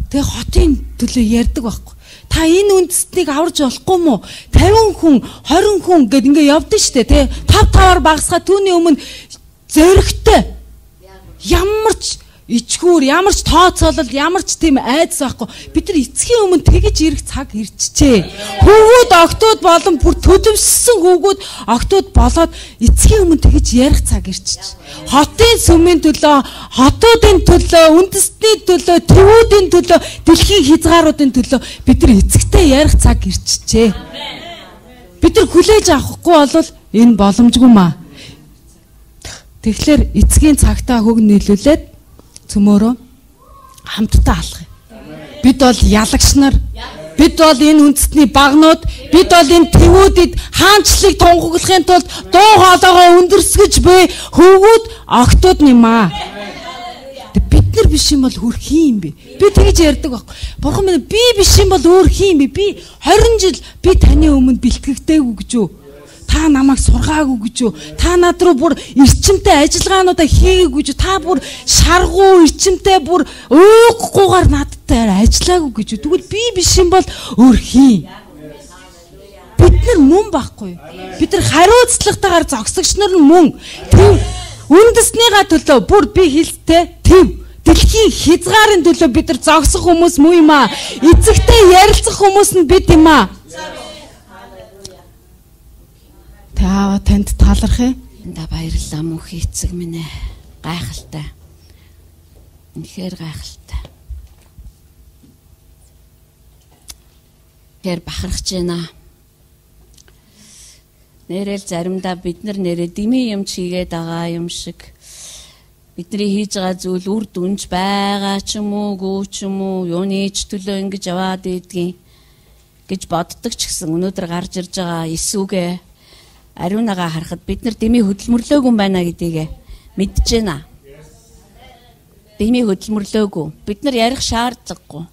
Тэгээ хотын төлөө ярьдаг байхгүй. Та энэ үндэстнийг аварж болохгүй мó? тавин хүн, хорин хүн гэд ингээ явдсан штэ те. тав таваар багасгаа түүний өмнө зөрөгтэй. Ямар ч ичгүүр, ямар ч тооцоолол, ямар ч тийм айдас байхгүй. Бид нар эцгийн өмнө тэгэж ирэх цаг ирчихжээ. Хүүгүүд, октод болон бүр төдөвссөн хүүгүүд, октод болоод эцгийн өмнө тэгэж ярих цаг ирчихж. Хотын сүмийн төлөө, хотуудын төлөө, үндэстний төлөө, тэвүүдийн төлөө, дэлхийн хязгааруудын төлөө бид нар эцэгтэй ярих цаг ирчихжээ. Бид нар хүлээж авахгүй бол энэ боломжгүй маа. Тэгэхээр эцгийн цагтаа хөг нийлүүлээд цөмөөрөө хамтдаа алах юм. Бид бол ялагч нар, бид бол энэ үндэстний багнууд, бид бол энэ тэвүүдэд хаанчлыг тунхаглахын тулд дуу хоолойгоо өндөрсгөж буй хөвгүүд октод нэмаа. Бид нар биш юм бол хөр хин юм бэ? Би тэгж ярьдаг байхгүй. Бурхан минь би биш юм бол өөр хин юм бэ? Би хорин жил би таны өмнө бэлтгэгдээгүй гэж юу? Та намайг сургаагүй гэж юу? Та над руу бүр эрчимтэй ажиллагаануудаа хийгээгүй гэж юу? Та бүр шаргуу эрчимтэй бүр ууггүйгээр надтай ажиллаагүй гэж юу? Тэгвэл би биш юм бол өөр хин. Бид нар мөн байхгүй. Бид нар хариуцлагатайгаар зогсогч нар мөн. Тэв үндэснийхаа төлөө бүр би хэлтэй тэв дэлхийн хязгаарын төлөө бид нар зогсох хүмүүс муу юм аа. Эцэгтэй ярилцах хүмүүс нь бид юм аа. Та танд таларх ээ. Энд баярлалаа мөнх эцэг минь ээ. Гайхалтай. Үнэхээр гайхалтай. Тэр бахархаж байна. Нэрэл заримдаа бид нар нэрээ дими юм чигээд байгаа юм шиг бидний хийж байгаа зүйл үр дүнж байгаа ч юм уу, гүү ч юм уу, юуны ч төлөө ингэж яваад идэгин гэж боддог ч гэсэн өнөөдөр гарч ирж байгаа Иесүгээ ариунагаа харахад бид нар дими хөдөлмөрлөөгүй юм байна гэдгийг мэдж байна. Дими хөдөлмөрлөөгүй. Бид нар ярих шаардлагагүй.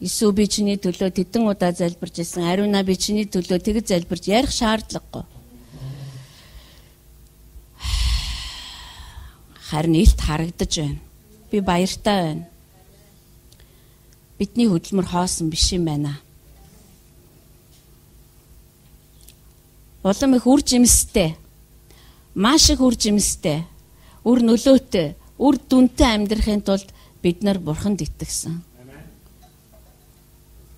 Иесүү би чиний төлөө тэдэн удаа залбирч ирсэн. Ариуна би чиний төлөө тэгж залбирч ярих шаардлагагүй. Харин илт харагдаж байна. Би баяртай байна. Бидний хөдөлмөр хоосон биш юм байна. Улам их үр жимстэй, маш их үр жимстэй, үр нөлөөтэй, үр дүнтэй амьдрахын тулд бид нар Бурханд итгэсэн.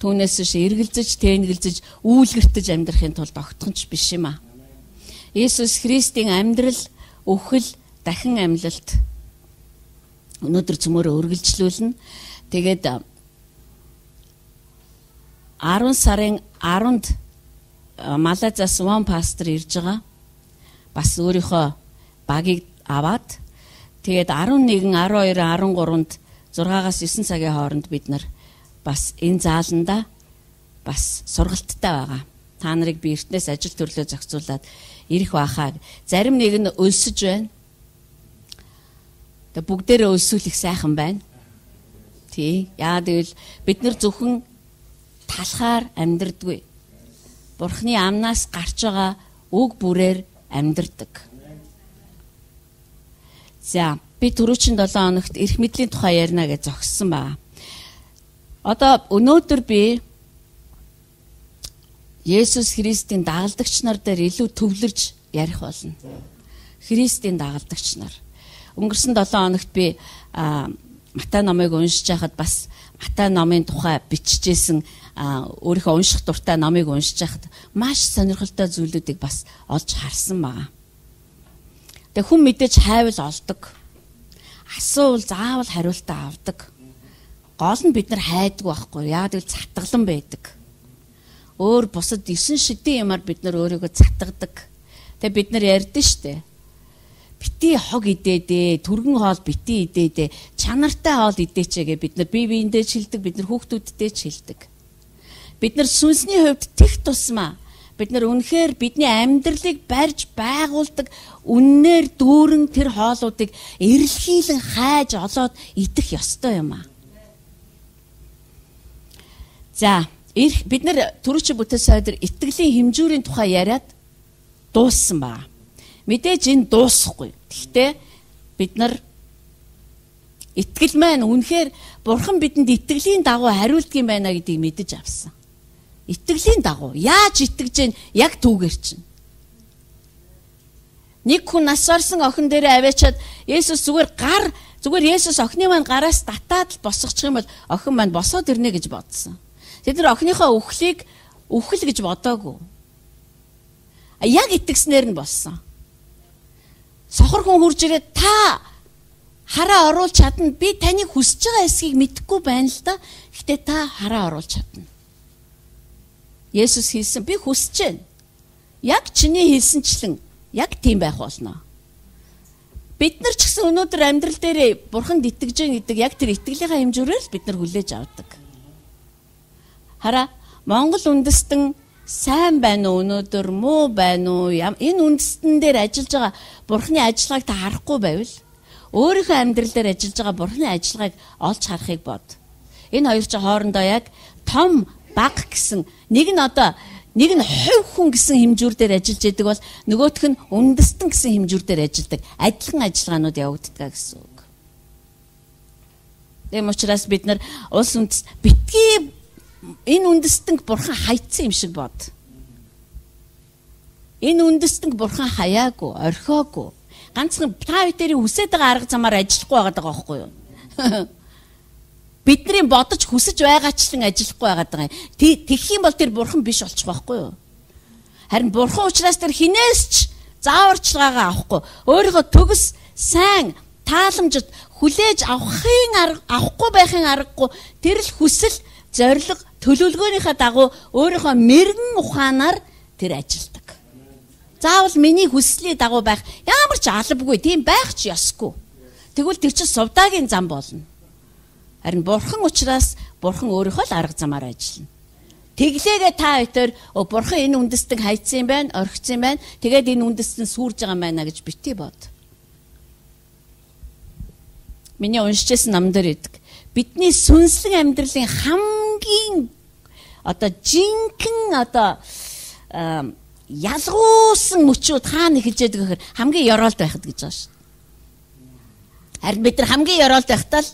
Түүнээс биш эргэлзэж, тэнэгэлзэж, үүлгэртэж амьдрахын тулд огтхонч биш юм аа. Иесус Христийн амьдрал, үхэл, дахин амьлалт өнөөдөр цөмөөрөө үргэлжлүүлнэ. Тэгээд арван сарын арванд Малазаас one пастор ирж байгаа. Бас өөрийнхөө багийг аваад тэгээд арван нэгэн, арван хоёр, арван гуравд зургаагаас девять цагийн хооронд бид нар бас энэ зааланда бас сургалттай байгаа. Та нарыг би эртнээс ажил төрлөө зохицуулаад ирэх байхаа. Зарим нэг нь өлсөж байна. Тэгээд бүгдээрээ өлсүүлэх сайхан байна. Тий. Яагаад гэвэл бид нар зөвхөн талхаар амьдрдаггүй. Бурхны амнаас гарч байгаа үг бүрээр амьдардаг. За, би түрүүчийн долоон хоногт эрх мэдлийн тухай ярина гэж зогссон байна. Одоо өнөөдөр би Есүс Христийн дагалдагч нар дээр илүү төвлөрж ярих болно. Христийн дагалдагч нар. Өнгөрсөн долоон хоногт би Матай номыг уншиж байхад бас Матай номын тухай бичижсэн өөрийнхөө унших дуртай номыг уншиж байхад маш сонирхолтой зүйлүүдийг бас олж харсан байгаа. Тэгээ хүн мэдээж хайвал олдог. Асуувал заавал хариултаа авдаг. Гол нь бид нар хайдаг байхгүй. Яг л цатгалан байдаг. Өөр бусад эсэн шидийн юмар бид нар өөрийгөө цатгадаг. Тэгээ бид нар ярьдэн штэ. Бити хог идээдээ, түргэн хоол бити идээдээ, чанартай хоол идээчээгээ бид нар бие биендээ шилдэг, бид нар хүүхдүүддээ шилдэг. Бид нар сүнсний хувьд тех тусмаа бид нар үнэхээр бидний амьдралыг барьж байгуулдаг үннээр дүүрэн тэр хоолуудыг эрэлхийлэн хайж олоод идэх ёстой юм аа. За, бид нар түрүүчийн бүтээл сайдэр итгэлийн хэмжүүрийн тухай яриад дууссан байна. Мэдээж энэ дуусахгүй. Гэхдээ бид нар итгэл маань үнэхээр Бурхан бидэнд итгэлийн дагуу хариулдаг юм байна гэдгийг мэдэж авсан. Итгэлийн дагуу яаж итгэж гэн яг түүгээр чинь. Нэг хүн нас орсон охин дээрээ аваачаад Есүс зүгээр гар зүгээр Есүс охины маань гараас татаад л босгочих юм бол охин маань босоод ирнэ гэж бодсон. Тэд нар охиныхоо үхлийг үхэл гэж бодоогүй. Яг итгэснээр нь болсон. Сохор хүн хурж ирээд та хараа оруулж чадна. Би таныг хүсэж байгаа эсхийг мэдэхгүй байна л да. Гэхдээ та хараа оруулж чадна. Есүс хэлсэн би хүсэж байна. Яг чиний хэлсэнчлэн яг тийм байх болно. Бид нар ч гэсэн өнөөдөр амьдрал дээр Бурханд итгэж байгаа гэдэг яг тэр итгэлийнхаа хэмжүүрээр бид нар хүлээж авдаг. Хараа Монгол үндэстэн сайн байна уу өнөөдөр муу байна уу энэ үндэстэн дээр ажиллаж байгаа Бурханы ажиллагааг та харахгүй байвал өөрийнхөө амьдрал дээр ажиллаж байгаа Бурханы ажиллагааг олж харахыг бод. Энэ хоёр ч хоорондоо яг том баг гэсэн нэг нь одоо нэг нь хувь хүн гэсэн хэмжүүр дээр ажиллаж идэг бол нөгөөх нь үндэстэн гэсэн хэмжүүр дээр ажилладаг. Адилхан ажиллагаанууд явагддаг гэсэн үг. Тэм учраас бид нар улс үндэс битгий энэ үндэстэнг Бурхан хайцсан юм шиг бод. Энэ үндэстэнг Бурхан хаяагүй, орхиогүй. Ганцхан та бүхэн хүсэж байгаа арга замаар ажиллахгүй байгаа даа байхгүй юу? Бидний бодож хүсэж байгаачлан ажиллахгүй байгаа даа. Тэгэх юм бол тэр Бурхан биш болчих байхгүй юу? Харин Бурхан учраас тэр хинээс ч зааварчилгаагаа авахгүй. Өөрийнхөө төгс сайн тааламжид хүлээж авахын арга авахгүй байхын аргагүй тэр л хүсэл зориг төлөвлөгөөнийхөө дагуу өөрийнхөө мэрэгэн ухаанаар тэр ажилдаг. Заавал миний хүслийн дагуу байх ямар ч албагүй тийм байх ч ёсгүй. Тэгвэл тэр чинь сувдаагийн зам болно. Харин Бурхан учраас Бурхан өөрийнхөө л арга замаар ажиллана. Тэглээгээ та өтөр Бурхан энэ үндэстэн хайцсан юм байна, орхицсан юм байна. Тэгээд энэ үндэстэн сүрж байгаа юм байна гэж битгий бод. Миний уншижсэн ном дээр идэг. Бидний сүнслэг амьдралын хамгийн одоо жинхэнэ одоо ялгуусан мөчүүд хаана эхэлж яадаг гэхээр хамгийн ёроолт байхад гэж байгаа шүү. Харин бид нар хамгийн ёроолт байхдаа л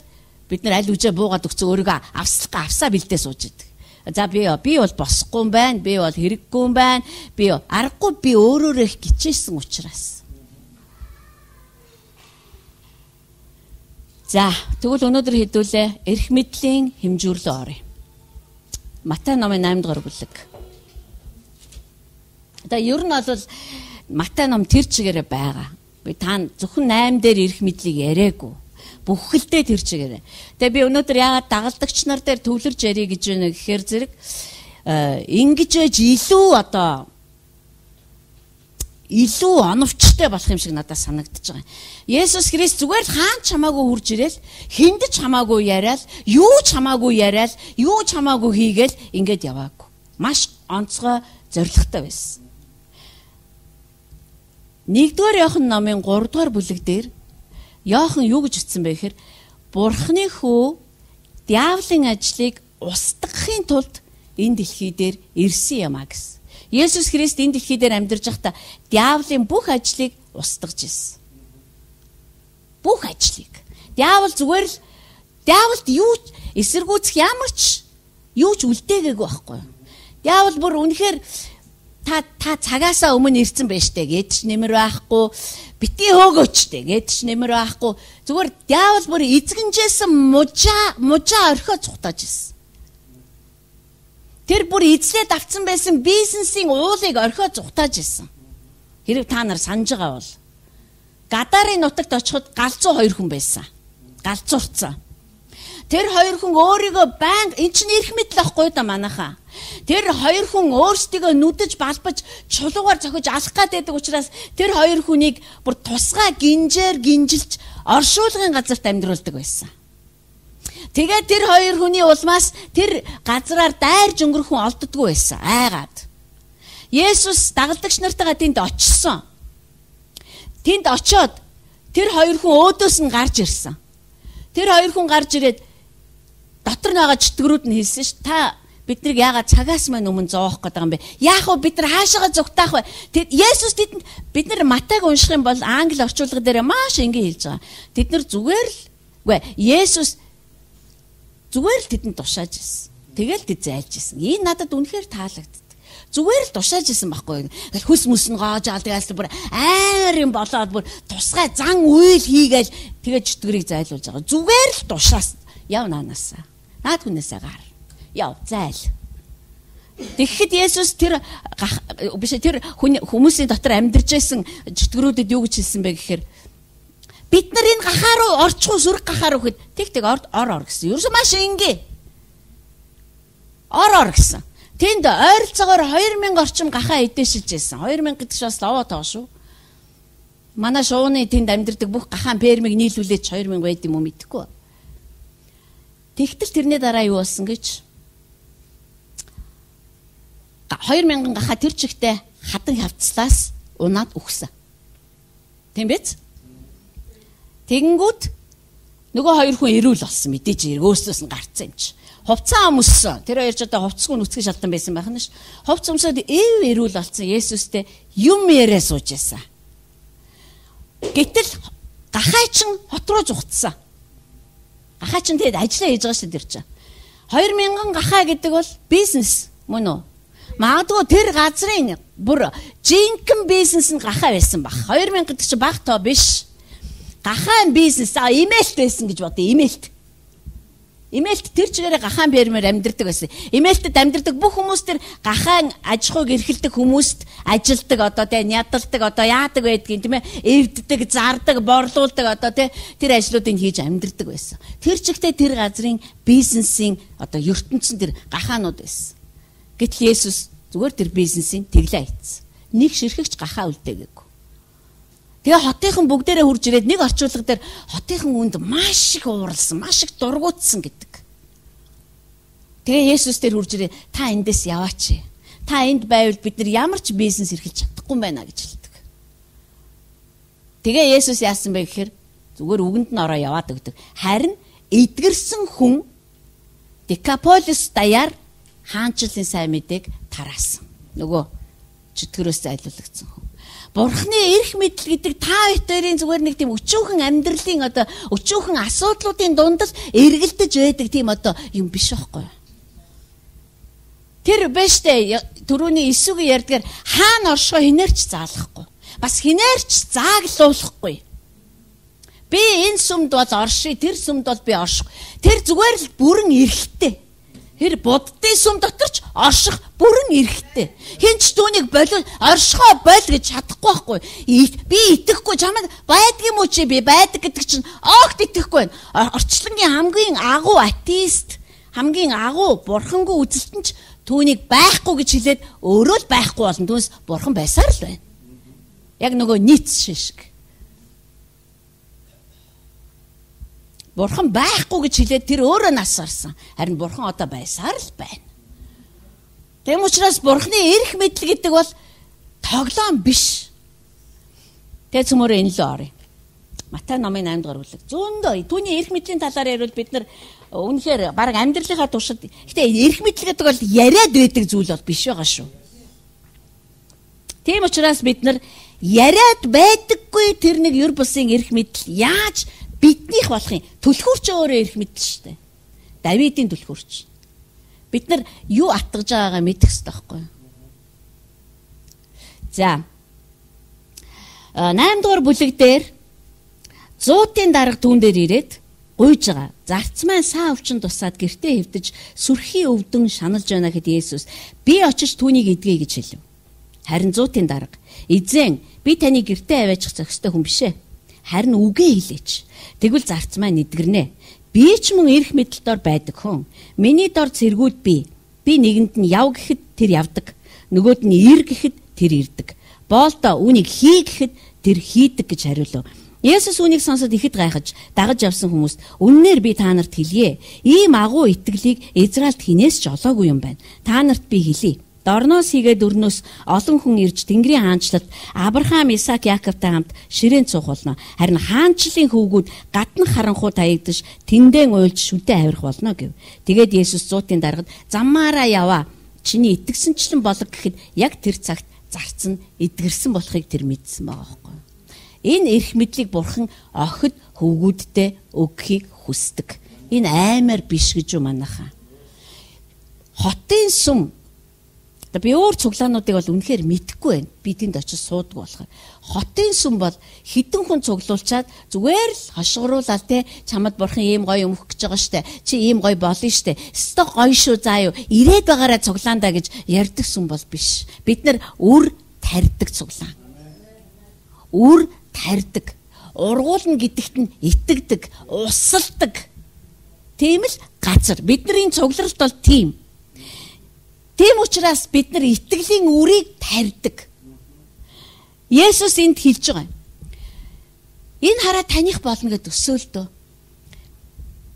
бид нар аль үжээ буугаад өгцөө өөрийгөө авслага авсаа бэлдээ сууж идэг. За би би бол босхгүй юм байна, би бол хэрэггүй юм байна, би аргагүй би өөрөөрөө их гिचээсэн учраас. За тэгвэл өнөөдөр хэдүүлээ эрх мэдлийн хэмжүүрлөө оръё. Матай номын наймд дугаар бүлэг. Одоо ер нь бол Матай ном тэр чигээрээ байгаа. Би та зөвхөн найм дээр эрх мэдлийг яриаггүй. Бүхэлдээ тэр чигээрээ. Тэгээ би өнөөдөр яагаад дагалдагч нар дээр төвлөрж ярих гэж байна гэхээр зэрэг ингэж ээж илүү одоо илүү оновчтой болох юм шиг надад санагдаж байгаа. Есүс Христ зүгээр л хаан чамаагүй хурж ирээл, хүнд ч хамаагүй яриад, юу ч хамаагүй яриад, юу ч хамаагүй хийгээл ингээд яваагүй. Маш онцгой зоригтой байсан. нэгдүгээр Иохан номын гурав дугаар бүлэг дээр Иохан юу гэж утсан бэ гэхээр Бурхны хүү диаволын ажлыг устгахын тулд энэ дэлхий дээр ирсэн юм а гэсэн. Есүс Христ энэ дэлхий дээр амьдарч байхдаа диаволын бүх ажлыг устгаж ирсэн. Бүх ажлыг. Диавол зүгээр л диаволд юу эсэргүүцэх ямар ч юу ч үлдээгээгүй байхгүй юу? Диавол бүр үнэхээр та та цагаасаа өмнө ирсэн байж тээ гэж нэмэр байхгүй. Бити хөөгөөч тээ гэж нэмэр байхгүй. Зүгээр диавол бүр эзэгнжсэн мужаа мужаа орхио цухтааж ирсэн. Тэр бүр эзлээд авцсан байсан бизнесийн уулыг орхио цухтааж ирсэн. Хэрэг та нар санаж байгаа бол Гадарын нутагт очиход галзуу хоёр хүн байсан. Галзуурцсан. Тэр хоёр хүн өөрийгөө баян эн чинь эрх мэдэл ахгүй да манайхаа. Тэр хоёр хүн өөрсдийгөө нүдэж балбаж чулуугаар зохиж алах гэдэг учраас тэр хоёр хүнийг бүр тусгай гинжээр гинжилж оршуулгын газарт амьдруулдаг байсан. Тэгээд тэр хоёр хүний улмаас тэр газраар дайрж өнгөрөхөн олддгүй байсан. Айгаад. Есүс дагалдагч нартайгаа тэнд очсон. Тэнд очиод тэр хоёр хүн өөдөөс нь гарч ирсэн. Тэр хоёр хүн гарч ирээд дотор нь байгаа чөтгөрүүд нь хэлсэн ш. Та биднийг яагаад цагаас маань өмнө зоох гэдэг юм бэ? Яах вэ? Бид нар хаашаага зүгтаах вэ? Тэр Есүс тэдэнд бид нар Матайг унших юм бол англи орчуулга дээр маш энгийн хэлж байгаа. Тэд нар зүгээр л үгүй Есүс зүгээр л тэдэнд тушааж ирсэн. Тэгэл тэд зайлж ирсэн. Энэ надад үнэхээр таалагддаг. Зүгээр л тушааж ирсэн байхгүй. Хүс мүс нь гоож аалдгаас бүр амар юм болоод бүр тусгай зан үйл хийгээл тэгээ чөтгөрийг зайлуулж байгаа. Зүгээр л тушаас яв наанасаа. Наад хүнээсээ гар. Яв зайл. Тэгэхэд Есүс тэр биш тэр хүмүүсийн дотор амьдарч байсан чөтгөрүүдэд юу гэж хэлсэн бэ гэхээр бид нар энэ гахаа руу орчих уу сүрэг гахаа руу гэхэд тэг тэг ор ор гэсэн. Ерөөсөө маш энгийн. Ор ор гэсэн. Тэнд ойролцоогоор хоёр мянга орчим гахаа эдээшилж байсан. хоёр мянга гэдэг чинь бас лаваа тоо шүү. Манай шууны тэнд амьдардаг бүх гахаан фермийг нийлүүлээд хоёр мянга байд юм уу мэдэхгүй. Тэгтэл тэрний дараа юу болсон гэж хоёр мянган гахаа тэр чигтээ хадан хавцлаас унаад үхсэн. Тийм биз? Тэгэнгүүт нөгөө хоёр хүн ирүүл болсон мэдээж өөрсдөөс нь гарцсан юм чи. Хувцас өмссөн. Тэр хоёр ч одоо хувцсгүй нүцгэн шалтан байсан байх нь ш. Хувцас өмсөд эв ирүүл болсон Есүстэй юм яриа сууж байсан. Гэтэл гахаа чин хот руу зүгтсэн. Гахаа чин тэгээд ажиллаа хийж байгаа шүү дээ тэр чинь. хоёр мянган гахаа гэдэг бол бизнес мөн үү? Магадгүй тэр газрын бүр жинхэнэ бизнес нь гахаа байсан баг. хоёр мянга гэдэг чинь баг тоо биш. Гахаан бизнес а имэйлт байсан гэж бодъё. Имэйлт. Имэйлт тэр чигээрээ гахаан фермээр амьдардаг байсан. Имэйлтэд амьдардаг бүх хүмүүс тэр гахаан аж ахуйг эрхэлдэг хүмүүст ажилдаг одоо тийм ядалдаг одоо яадаг байдгийг тийм ээ эвддэг, зардаг, борлуулдаг одоо тийм тэр ажлуудыг хийж амьдардаг байсан. Тэр чигтээ тэр газрын бизнесийн одоо ертөнцийн тэр гахаанууд байсан. Гэтэл Есүс зүгээр тэр бизнесийн тэглээ хийцэн. Нэг ширхэгч гахаа үлдээгээгүй. Тэгээ хотынхан бүгдээрээ хурж ирээд нэг орчуулга дээр хотынхан үнд маш их ууралсан, маш их дургуутсан гэдэг. Тэгээ Есүс дээр хурж ирээ та эндээс яваач. Та энд байвал бид нар ямар ч бизнес эрхэлж чадахгүй юм байна гэж хэлдэг. Тэгээ Есүс яасан бэ гэхээр зүгээр үгэнд нь ороо яваад өгдөг. Харин эдгэрсэн хүн Декаполис даяар хаанчлалын сайн мэдээг тараасан. Нөгөө чөтгөрөөс зайлуулагдсан хүн. Бурхны эрх мэдэл гэдэг та хоёрын зүгээр нэг тийм өчүүхэн амьдралын одоо өчүүхэн асуудлуудын дундас эргэлдэж байдаг тийм одоо юм биш байхгүй. Тэр бэштэй түрүүний эсвэгийн ярьдгаар хаана оршихоо хинээрч заалахгүй. Бас хинээрч зааглуулахгүй. Би энэ сүмд бол оршие, тэр сүмд бол би орших. Тэр зүгээр л бүрэн эрхтэй. Тэр буддын сүм дотор ч орших бүрэн эрхтэй. Хинч түүнийг болов оршихоо бол гэж чадахгүй байхгүй. Би итгэхгүй чамд байдаг юм уу чи би байдаг гэдэг чинь огт итгэхгүй байна. Орчлонгийн хамгийн агуу атеист, хамгийн агуу бурхангүй үзэлтэн ч түүнийг байхгүй гэж хэлээд өөрөө л байхгүй болно. Түүнээс бурхан байсаар л байна. Яг нөгөө Ницше шиг. Бурхан байхгүй гэж хэлээд тэр өөрөө нас гарсан. Харин бурхан одоо байсаар л байна. Тэм учраас бурханы эрх мэдэл гэдэг бол тоглоом биш. Тэ цөмөрөө энэ л орё. Матай номын наймд дугаар бүлэг. Зөндөө түүний эрх мэдлийн талаар ярил бид нар үнэхээр баг амьдралынхаа туршид гэтээ эрх мэдэл гэдэг бол яриад байдаг зүйл бол биш байгаа шүү. Тийм учраас бид нар яриад байдаггүй тэр нэг ер бусын эрх мэдэл яаж биднийх болохын түлхүүрч өөрөө эрх мэдэл шүү дээ. Давидын түлхүүрч. Бид нар юу атгаж байгаагаа мэдэх хэрэгтэй байхгүй юу? За. найм дугаар бүлэг дээр зуутын дарга түүн дээр ирээд гуйж байгаа. Зарц маань саа өвчин тусаад гэртээ хэвдэж сүрхий өвдөн шаналж байна гэхэд Есүс би очиж түүнийг эдгэе гэж хэлв. Харин зуутын дарга эзэн би таны гэртээ аваачих зохистой хүн бишээ. Харин үгээ хэлээч. Тэгвэл зарц маань эдгэрнэ. Би ч мөн эрх мэдэл дор байдаг хүн. Миний дор цэргүүд би. Би нэгэнд нь яв гэхэд тэр явдаг. Нөгөөд нь ир гэхэд тэр ирдэг. Боолдоо үүнийг хий гэхэд тэр хийдэг гэж хариулв. Есүс үүнийг сонсоод ихэд гайхаж дагаж явсан хүмүүст үннээр би та нарт хэлье. Ийм агуу итгэлийг Израильд хинээс ч олоогүй юм байна. Та нарт би хэлье. Дорноос хийгээд өрнөөс олон хүн ирж Тэнгэрийн хаанчлалд Авраам, Исаак, Яаковтай хамт ширээн цуух болно. Харин хаанчлалын хөвгүүд гадна харанхуй таягдж тэндэн уйлж шүдэ авирах болно гэв. Тэгээд Есүс зуутын даргад заммаараа яваа. Чиний итгэсэнчлэн болог гэхэд яг тэр цагт зарц нь эдгэрсэн болохыг тэр мэдсэн байгаа байхгүй. Энэ эрх мэдлийг Бурхан охид хөвгүүдтэй өгөхийг хүсдэг. Энэ аймаар биш гэж юу манайхаа. Хотын сум би өөр цуглаануудыг бол үнэхээр мэдэхгүй байна. Би тэнд очиж сууддаг болохоор. Хотын сүм бол хідэн хүн цуглуулчаад зүгээр л хошгоруулаад те чамд Бурхан ийм гоё өмөх гэж байгаа штэ. Чи ийм гоё болно штэ. Өстө гоё шүү заа юу. Ирээд байгаараа цуглаандаа гэж ярьдаг сүм бол биш. Бид нар үр тарьдаг цуглаан. Үр тарьдаг. Ургуулна гэдэгт нь итгэдэг, усалдаг. Тийм л газар. Бидний цугларалт бол тийм. Тийм учраас бид нар итгэлийн үрийг тарьдаг. Есүс энд хэлж байгаа. Энэ хараа таних болно гэдэг өсөөлтөө.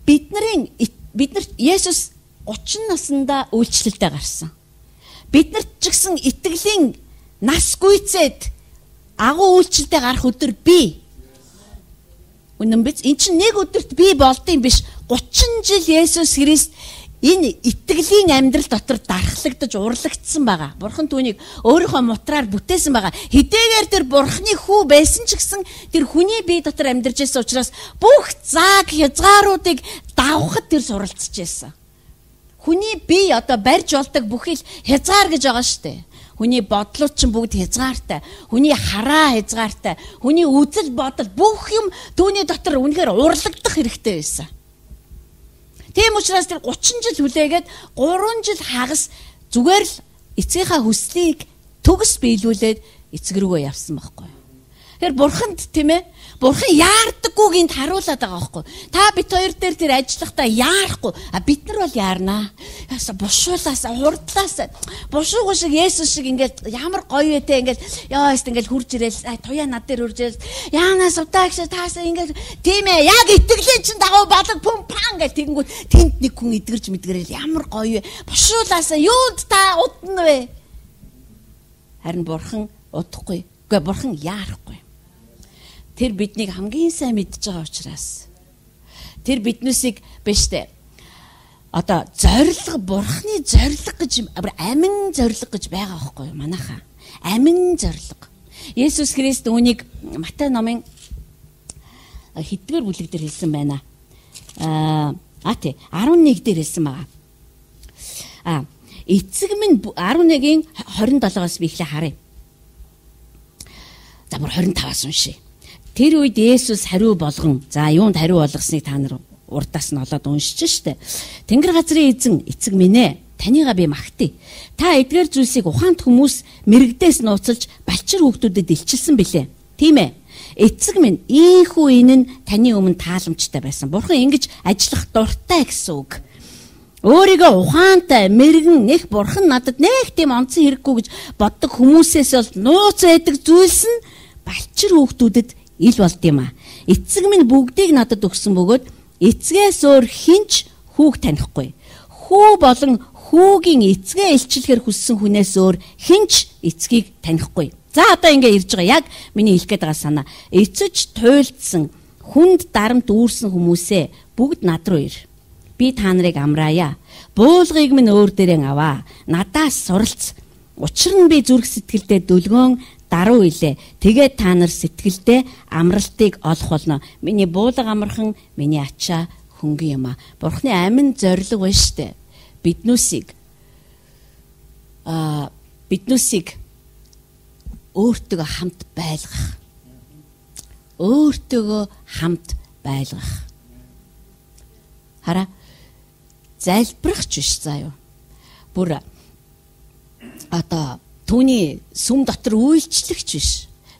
Бидний бид нар Есүс гучин наснда үйлчлэлдээ гарсан. Бид нарт ч гэсэн итгэлийн нас гүйцээд агуу үйлчлэлдээ гарах өдөр бий. Үнэн биз? Энд чинь нэг өдөрт бий болдсон биш. гучин жил Есүс Христ энэ итгэлийн амьдрал дотор дархлагдаж урлагдсан байгаа. Бурхан түүнийг өөрийнхөө мутраар бүтээсэн байгаа. Хэдийгээр тэр Бурханы хүү байсан ч гэсэн тэр хүний бие дотор амьдарч байсан учраас бүх зааг хязгааруудыг давхад тэр суралцж байсан. Хүний бие одоо барьж болдог бүхэл хязгаар гэж байгаа штэ. Хүний бодлууд ч бүгд хязгаартай. Хүний хараа хязгаартай. Хүний үзэл бодол бүх юм түүний дотор үнэхээр урлагдах хэрэгтэй байсан. Тийм учраас тэр гучин жил хүлээгээд гурван жил хагас зүгээр л эцгийнхаа хүслийг төгс биелүүлээд эцэг рүүгээ явсан байхгүй. Тэр Бурханд тийм ээ Бурхан яардаггүйг энд харуулад байгаа байхгүй. Та бит хоёр дээр тэр ажиллахдаа яарахгүй. А бид нар бол яарнаа. Яса бушуулаас хурдлаас бушуугүй шиг Есүс шиг ингээд ямар гоё вэ те ингээд яа эст ингээд хурж ирэл туяа над дээр хурж ирэл яанаас удаагш таасаа ингээд тийм ээ яг итгэлийн чин дагуу балаг пум пан гэж тэгэнгүүт тэнд нэг хүн эдгэрж мэдгэрэл ямар гоё вэ. Бушуулаас юунд та удна вэ? Харин Бурхан удахгүй. Үгүй Бурхан яарахгүй. Тэр биднийг хамгийн сайн мэдж байгаа учраас тэр биднээсийг биш дээ. Одоо зориг Бурханы зориг гэж амин зориг гэж байгаа байхгүй юу манайхаа. Амин зориг. Есүс Христ үүнийг Матай номын хэдгээр бүлэг дээр хэлсэн байна. Аа а тий арван нэг дээр хэлсэн байгаа. А эцэг минь арван нэгийн хорин долоогоос би ихлэ харъя. За бүр хорин таваас уншия. Тэр үед Есүс хариу болгон за юунд хариу болгосныг та нар урдаас нь олоод уншиж штэ. Тэнгэр газрын эзэн эцэг минь ээ танийгаа би магтъя. Та эдгээр зүйлсийг ухаанд хүмүүс мэрэгдээс нууцалж балчир хүүхдүүдэд илчилсэн билээ. Тийм ээ. Эцэг минь ийхүү энэ нь таны өмнө тааламжтай байсан. Бурхан ингэж ажиллах дуртай гэсэн үг. Өөрийгөө ухаантай мэрэгэн нэх Бурхан надад нэг тийм онцон хэрэггүй гэж боддог хүмүүсээс бол нууц байдаг зүйлс нь балчир хүүхдүүдэд ил болд юм а. Эцэг минь бүгдийг надад өгсөн бөгөөд эцгээс өөр хинч хүүг танихгүй. Хүү болон хүүгийн эцгээ илчлэхээр хүссэн хүнээс өөр хинч эцгийг танихгүй. За одоо ингэ ирж байгаа яг миний хэлэх гээд байгаа санаа. Эцэж туйлдсан хүнд дарамт үүрсэн хүмүүсээ бүгд над руу ир. Би та нарыг амраая. Буулгыг минь өөр дээрээ аваа. Надаас суралц. Учир нь би зүрх сэтгэлдээ дүлгөөн даруй илээ. Тэгээд та нар сэтгэлдээ амралтыг олох болно. Миний буулга амархан, миний ачаа хөнгөн юм а. Бурхны амин зориг байна штэ. Биднүүсийг аа биднүүсийг өөртөө хамт байлгах. Өөртөө хамт байлгах. Хараа залбирахч биш заа юу. Бүр одоо түүний сүм дотор үйлчлэгч биш.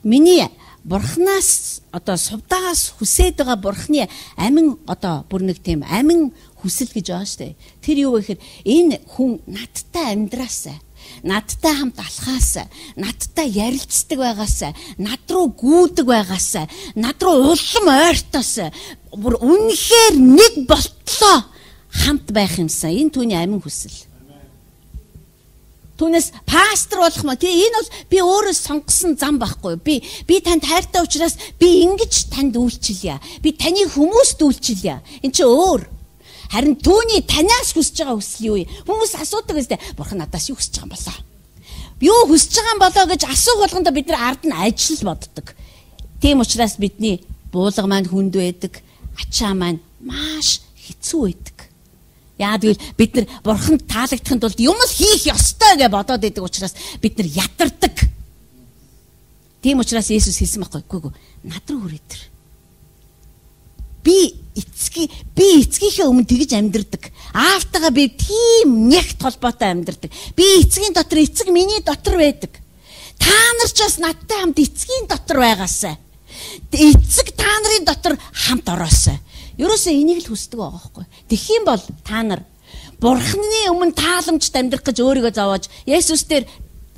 Миний бурхнаас одоо сувдаас хүсээд байгаа бурхны амин одоо бүр нэг тийм амин хүсэл гэж байгаа штэ. Тэр юу вэ гэхээр энэ хүн надтай амьдраасаа, надтай хамт алхаасаа, надтай ярилцдаг байгаасаа, над руу гүйдэг байгаасаа, над руу улам ойртоосаа бүр үнэхээр нэг болтлоо хамт байх юмсан. Энэ түүний амин хүсэл. Түүнээс пастор болох маа. Тэгээ энэ бол би өөрөө сонгосон зам байхгүй. Би би танд хайртай учраас би ингэж танд үйлчилье. Би таны хүмүүст үйлчилье. Энд чи өөр. Харин түүний танаас хүсэж байгаа хүсэл юу вэ? Хүмүүс асуудаг гэстэй. Бурхан надаас юу хүсэж байгаа юм болоо? Юу хүсэж байгаа юм болоо гэж асуух болгондоо бид нар ард нь ажил боддог. Тийм учраас бидний буулга маань хүнд байдаг. Ачаа маань маш хэцүү байдаг. Яа тэгвэл бид нар бурханд таалагдахын тулд юм л хийх ёстой гэж бодоод байдаг учраас бид нар ятардаг. Тийм учраас Есүс хэлсэн байхгүй юу? Над руу хүрээ тэр. Би эцгийн би эцгийнхээ өмнө тэгж амьдэрдэг. Аавтайгаа би тийм нягт холбоотой амьдэрдэг. Би эцгийн дотор эцэг миний дотор байдаг. Та нар ч бас надтай хамт эцгийн дотор байгаасай. Эцэг та нарын дотор хамт ороосай. Ерөөсөө энийг л хүсдэг байгаа байхгүй. Тэгэх юм бол та нар бурхны өмнө тааламжт амьдрах гэж өөрийгөө зовоож Есүс дээр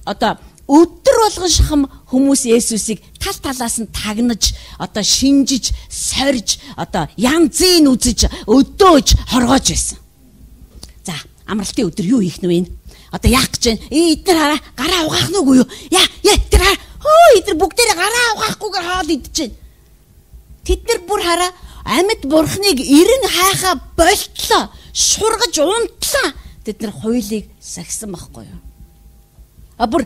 одоо өдөр болгон шахам хүмүүс Есүсийг тал талаас нь тагнаж одоо шинжиж, сорж, одоо янзын үзэж, өдөөж, хоргоож байсан. За, амралтын өдөр юу хийх нь вэ? Одоо яах гэж байна? Ээ, эдгээр хараа, гараа угаах нь үгүй юу? Яа, яа, эдгээр хараа. Хөө, эдгээр бүгдээрээ гараа угаахгүйгээр хаал идэж байна. Тэд нар бүр хараа амьд бурхныг эрен хайхаа болтлоо, шургаж унтлаа. Тэд нар хуулийг сахисан байхгүй юу? А бүр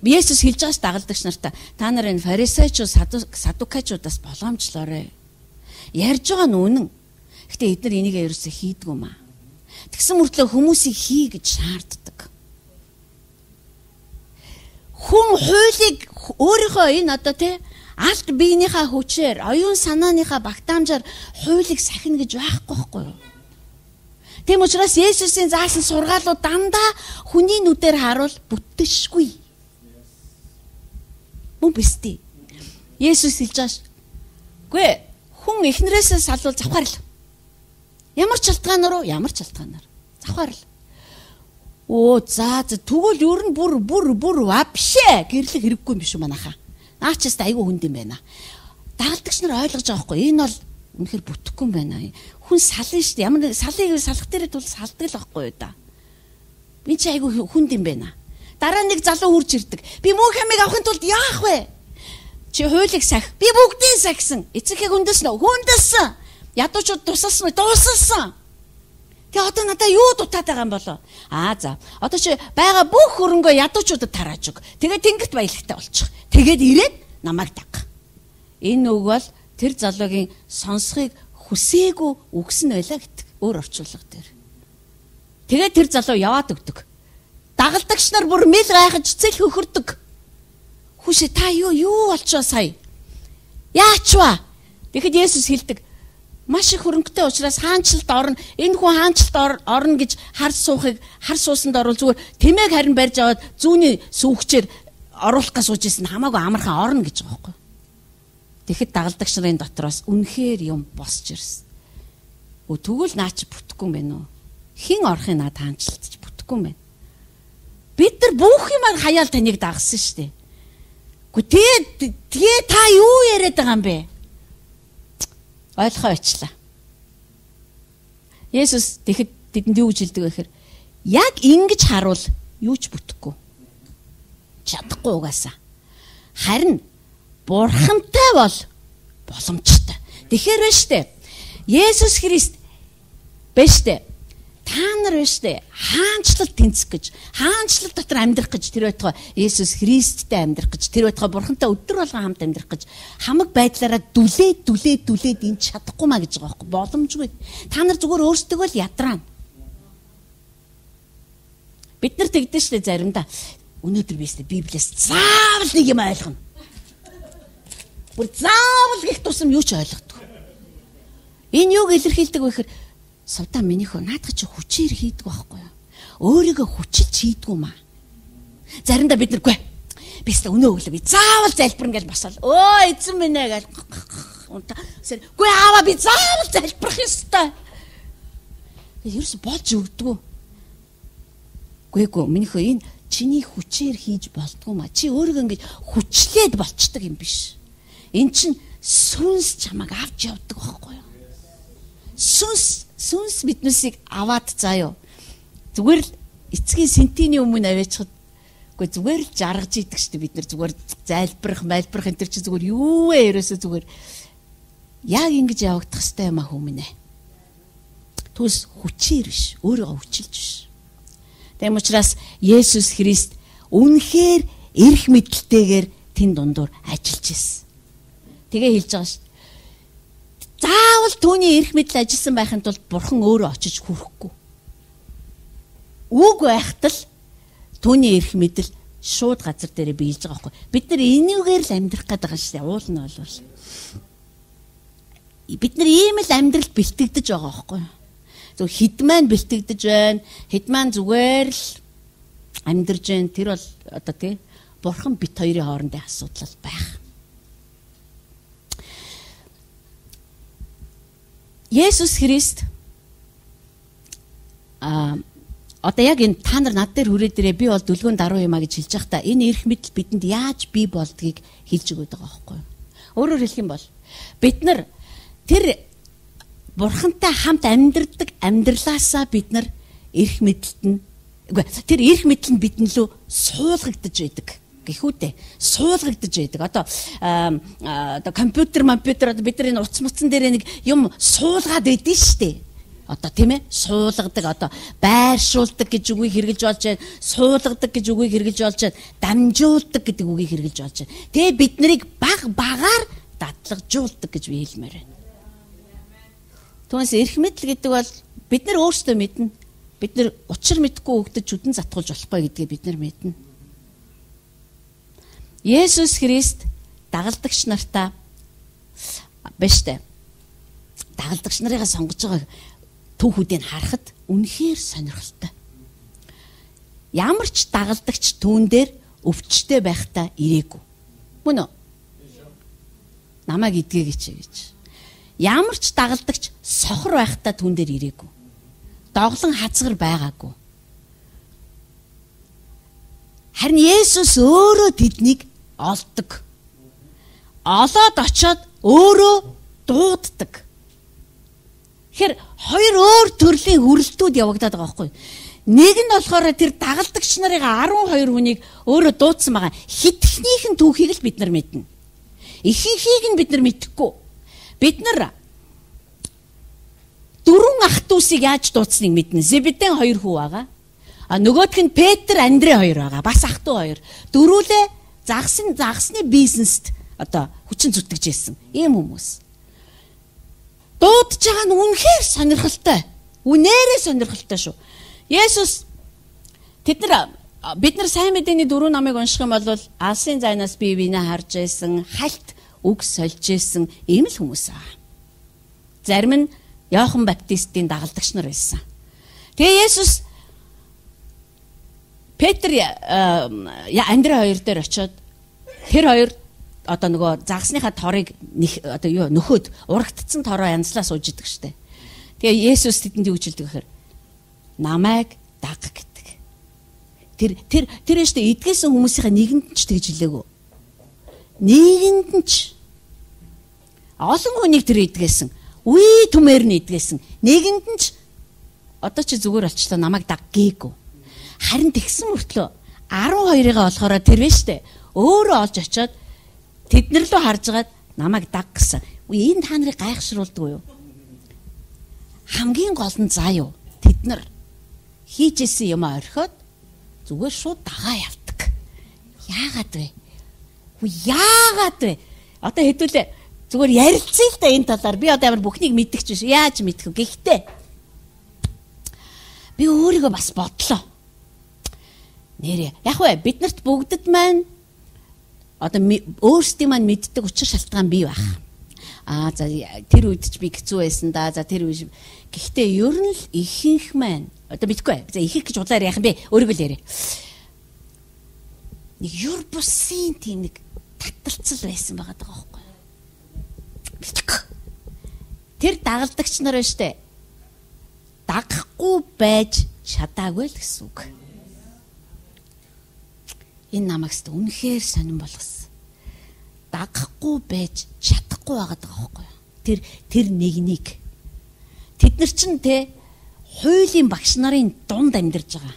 Есүс хэлж байгаас дагалдагч нартай та нар энэ фарисеучуд, садукачудаас боломжлоорой. Ярьж байгаа нь үнэн. Гэтэ эдгээр энийг ерөөсөө хийдгүү маа. Тэгсэн мөртлөө хүмүүсийг хий гэж шаарддаг. Хүн хуулийг өөрийнхөө энэ одоо тий алт биенийхээ хүчээр, оюун санааныхаа багтаамжаар хуулийг сахина гэж байхгүй байхгүй юу? Тийм учраас Есүсийн заасан сургаалууд дандаа хүний нүдээр харуул бүттэшгүй. Мөн биз дээ. Есүс хэлж байгаа. Гүй хүн эхнэрээсээ салвал завхаарл. Ямар ч шалтгаанаар уу, ямар ч шалтгаанаар завхаарл. Оо за за тэгвэл ер нь бүр бүр бүр вообще гэрлэх хэрэггүй юм биш үү манайхаа. Наачаас айгүй хүнд юм байна. Дагалдагч нар ойлгож байгаа байхгүй. Энэ бол үнэхээр бүтэхгүй юм байна. Хүн сална шүү дээ. Ямар салыг салах дээр тул салдаг л байхгүй юу да. Би чи айгүй хүнд юм байна. Дараа нэг залуу хурж ирдэг. Би мөнх хамыг авахын тулд яах вэ? Чи хуулийг сах. Би бүгдийг сахисан. Эцэгхийг хүндэлсэн үү? Хүндэлсэн. Ядуучууд тусалсан уу? Тусалсан. Тэгээ одоо надаа юу дутаад байгаа юм болоо? Аа за. Одоо чи байгаа бүх хөрөнгөө ядуучуудад тарааж өг. Тэгээд тэнгэрт баялагтай болчих. Тэгээд ирээд намайг даг. Энэ үг бол тэр залуугийн сонсхийг хүсээгүй үгсэн байлаа гэдэг. Өөр орчуулга дээр. Тэгээд тэр залуу яваад өгдөг. Дагалдагч нар бүр мэл гайхаж цэл хөхөрдөг. Хүшээ та юу юу болчоо сая? Яач вэ? Тэгэхэд Есүс хэлдэг. Маш их хөрөнгөтэй учраас хаанчлалд орно. Энэ хүн хаанчлалд орно гэж хар суухыг хар суусанд орвол зүгээр тэмээг харин барьж аваад зүүнний сүүгчээр оруулах гэж сууж исэн хамаагүй амархан орно гэж байгаа байхгүй. Тэгэхэд дагалдагч нарын дотроос үнэхээр юм босч ирсэн. Өө тэгвэл наа чи бүтэхгүй юм байна уу? Хин орохын наад хаанчлалдж бүтэхгүй юм байна. Бид нар бүх юмар хаяал таныг дагсан шүү дээ. Гэхдээ тэгээ та юу яриад байгаа юм бэ? Ойлгохоо очлаа. Есүс тэгэхэд тэдэнд юу гэж хэлдэг вэ гэхээр яг ингэж харуул юу ч бүтэхгүй. Чадахгүй угаасаа. Харин бурхантай бол боломжтой. Тэгэхээр байна штэ. Есүс Христ байна штэ. Та нар байна штэ. Хаанчлал тэнцэх гэж, хаанчлал дотор амьдрах гэж тэр байтугай Есүс Христтэй амьдрах гэж, тэр байтугай бурхантай өдөр болгон хамт амьдрах гэж хамаг байдлаараа дүлээд дүлээд дүлээд энэ чадахгүй маа гэж байгаа байхгүй боломжгүй. Та нар зүгээр өөрсдөө л ядраана. Бид нар тэгдэж штэ заримдаа. Өнөөдөр би өстө Библиэс заавал нэг юм ойлгоно. Бүр заавал гэх тусам юу ч ойлгохгүй. Энэ юуг илэрхийлдэг вэ гэхээр савдаа минийхөө наадах чи хүчээр хийдэг байхгүй юу? Өөрийгөө хүчилж хийдгүү маа. Заримдаа бид нэргүй. Би өстө өнөө өглөө би заавал залбирна гэж босоод өө эзэн минь ээ гэж үгүй аава би заавал залбирах ёстой. Ерөөс болж өгдөггүй. Гүйгүй минийхөө энэ чиний хүчээр хийж болдгоо маа. Чи өөрийгөө ингэж хүчлээд болчдөг юм биш. Эн чин сүнс чамайг авч явдаг байхгүй юу? Сүнс сүнс биднээсийг аваад заяа. Зүгээр л эцгийн сентиний өмнө аваачихад үгүй зүгээр л жаргаж идэг шүү дээ бид нар зүгээр зайлбарах, майлбарах энэ төр чи зүгээр юу вэ ерөөсөө зүгээр яг ингэж явагдах хэрэгтэй юм а хүмүүнэ. Түс хүчээр биш, өөрийгөө хүчилж биш. Тэм учраас Есүс Христ үнэхээр эрх мэдэлтэйгээр тэн дундуур ажиллаж ирсэн. Тэгээ хэлж байгаа шүү. Заавал түүний эрх мэдэл ажилласан байхын тулд Бурхан өөрөө очиж хүрэхгүй. Үг байхад л түүний эрх мэдэл шууд газар дээр биелж байгаа байхгүй. Бид нар энийгээр л амьдрах гэдэг байгаа шүү дээ. Уул нь болвол. Бид нар ийм л амьдралд бэлтгэдэж байгаа байхгүй. Зөв хэд маань бэлтгэдэж байна. Хэд маань зүгээр л амьдарж байна. Тэр бол одоо тий Бурхан бит хоёрын хоорондын асуудал байх. Есүс Христ а одоо яг энэ та нар над дээр хүрээ дээрээ би бол дүлгөөн даруй юмаа гэж хэлж байхдаа энэ эрх мэдэл бидэнд яаж бий болдгийг хэлж өгöd байгаа байхгүй юу? Өөрөөр хэлэх юм бол бид нар тэр Бурхантай хамт амьдардаг амьдралаасаа бид нар эрх мэдэлт нь үгүй тэр эрх мэдэл нь бидэн лөө суулгагдаж байдаг гэхүү дээ. Суулгагдаж байдаг. Одоо одоо компьютер, компьютер одоо бид нар энэ утас муцсан дээр нэг юм суулгаад байдэн штэ. Одоо тийм ээ суулгадаг одоо байршуулдаг гэж үгийг хэрэгжилж болж байна. Суулгадаг гэж үгийг хэрэгжилж болж байна. Дамжуулдаг гэдэг үгийг хэрэгжилж болж байна. Тэгээ бид нарыг баг багаар дадлагжуулдаг гэж би хэлмээр байна. Түүнээс эрх мэдэл гэдэг бол бид нар өөрсдөө мэднэ. Бид нар учир мэдгүй өгдөж чүдэн затгуулж болохгүй гэдгийг бид нар мэднэ. Есүс Христ дагалдагч нартаа биш дээ. Дагалдагч нарыгаа сонгож байгаа түүхүүдийг харахад үнэхээр сонирхолтой. Ямар ч дагалдагч түүн дээр өвчтэй байхдаа ирээгүй. Мөн үү? Намайг идгээ гэж гэж. Ямар ч дагалдагч сохор байхдаа түүн дээр ирээгүй. Доглон хазгар байгаагүй. Харин Есүс өөрөө тэднийг олдог. Олоод очоод өөрөө дууддаг. Тэгэхээр хоёр өөр төрлийн хүрэлтүүд явагдаад байгаа байхгүй. Нэг нь болохоор тэр дагалдагч нарын арван хоёр хүнийг өөрөө дуудсан байгаа. Хитгэхнийх нь түүхийг л бид нар мэднэ. Ихэнхийг нь бид нар мэдэхгүй. Бид нар дөрвөн ах дүүсийг яаж дуудсныг мэднэ. Зебедийн хоёр хүү байгаа. А нөгөөх нь Петр, Андрей хоёр байгаа. Бас ах дүү хоёр. Дөрвөлээ загсны загсны бизнест одоо хүчин зүтгэж ирсэн. Ийм хүмүүс. Дуудж байгаа нь үнэхээр сонирхолтой. Үнээрээ сонирхолтой шүү. Есүс тэд нар бид нар сайн мэдээний дөрвөн номыг унших юм бол алсын зайнаас бие биенээ харж байсан, хальт үг сольж байсан ийм л хүмүүс аа. Зарим нь Иохан Баптистийн дагалдагч нар байсан. Тэгээ Есүс Петр Андрей хоёр дээр очиод тэр хоёр одоо нөгөө загсныхаа торыг одоо юу нөхөд урагдцсан тороо янзлаа сууж идэг штэ. Тэгээ Есүс тэдэнд юу гэж хэлдэг гэхээр намайг даг гэдэг. Тэр тэр тэр штэ эдгээсэн хүмүүсийнхаа нэгэнд ч тэгж хэлээгүү. Нэгэнд нь ч олон хүнийг тэр эдгээсэн. Үе түмээр нь эдгээсэн. Нэгэнд нь ч одоо чи зүгээр болчлоо намайг даг гээгүй. Харин тэгсэн мөртлөө арван хоёрыгаа болохоор тэр вэ штэ. Өөрөө олж очиод тэднэр лөө харжгаад намайг даг гэсэн. Үе энэ та нарыг гайхшруулдаг юу? Хамгийн гол нь заа юу? Тэд нар хийжсэн юм орхиод зүгээр шууд дагаа явдаг. Яагаад вэ? Үе яагаад вэ? Одоо хэдүүлээ зүгээр ярилцъя л да энэ талаар. Би одоо ямар бүхнийг мэддэг ч биш. Яаж мэдэх вэ? Гэхдээ би өөрийгөө бас бодлоо. Нэрээ. Яг вэ биднэрт бүгдэд маань одоо өөрсдийн маань мэддэг учир шалтгаан бий байх. Аа за тэр үед ч би хэцүү байсан да. За тэр үед гэхдээ ер нь л ихэнх маань одоо мэдгүй. За ихэнх гэж улаар яах юм бэ? Өөрийгөө л яриа. Нэг юр бусын тийм нэг таталцал байсан байгаа даа байхгүй. Мэдгүй. Тэр дагалдагч нар байна штэ. Дагахгүй байж чадаагүй л гэсэн үг. Энэ намайг ч үнэхээр сонирн болгосон. Дагахгүй байж чадахгүй байгаа даа байхгүй. Тэр тэр нэгнийг тэд нар чинь те хуулийн багш нарын дунд амьдарч байгаа.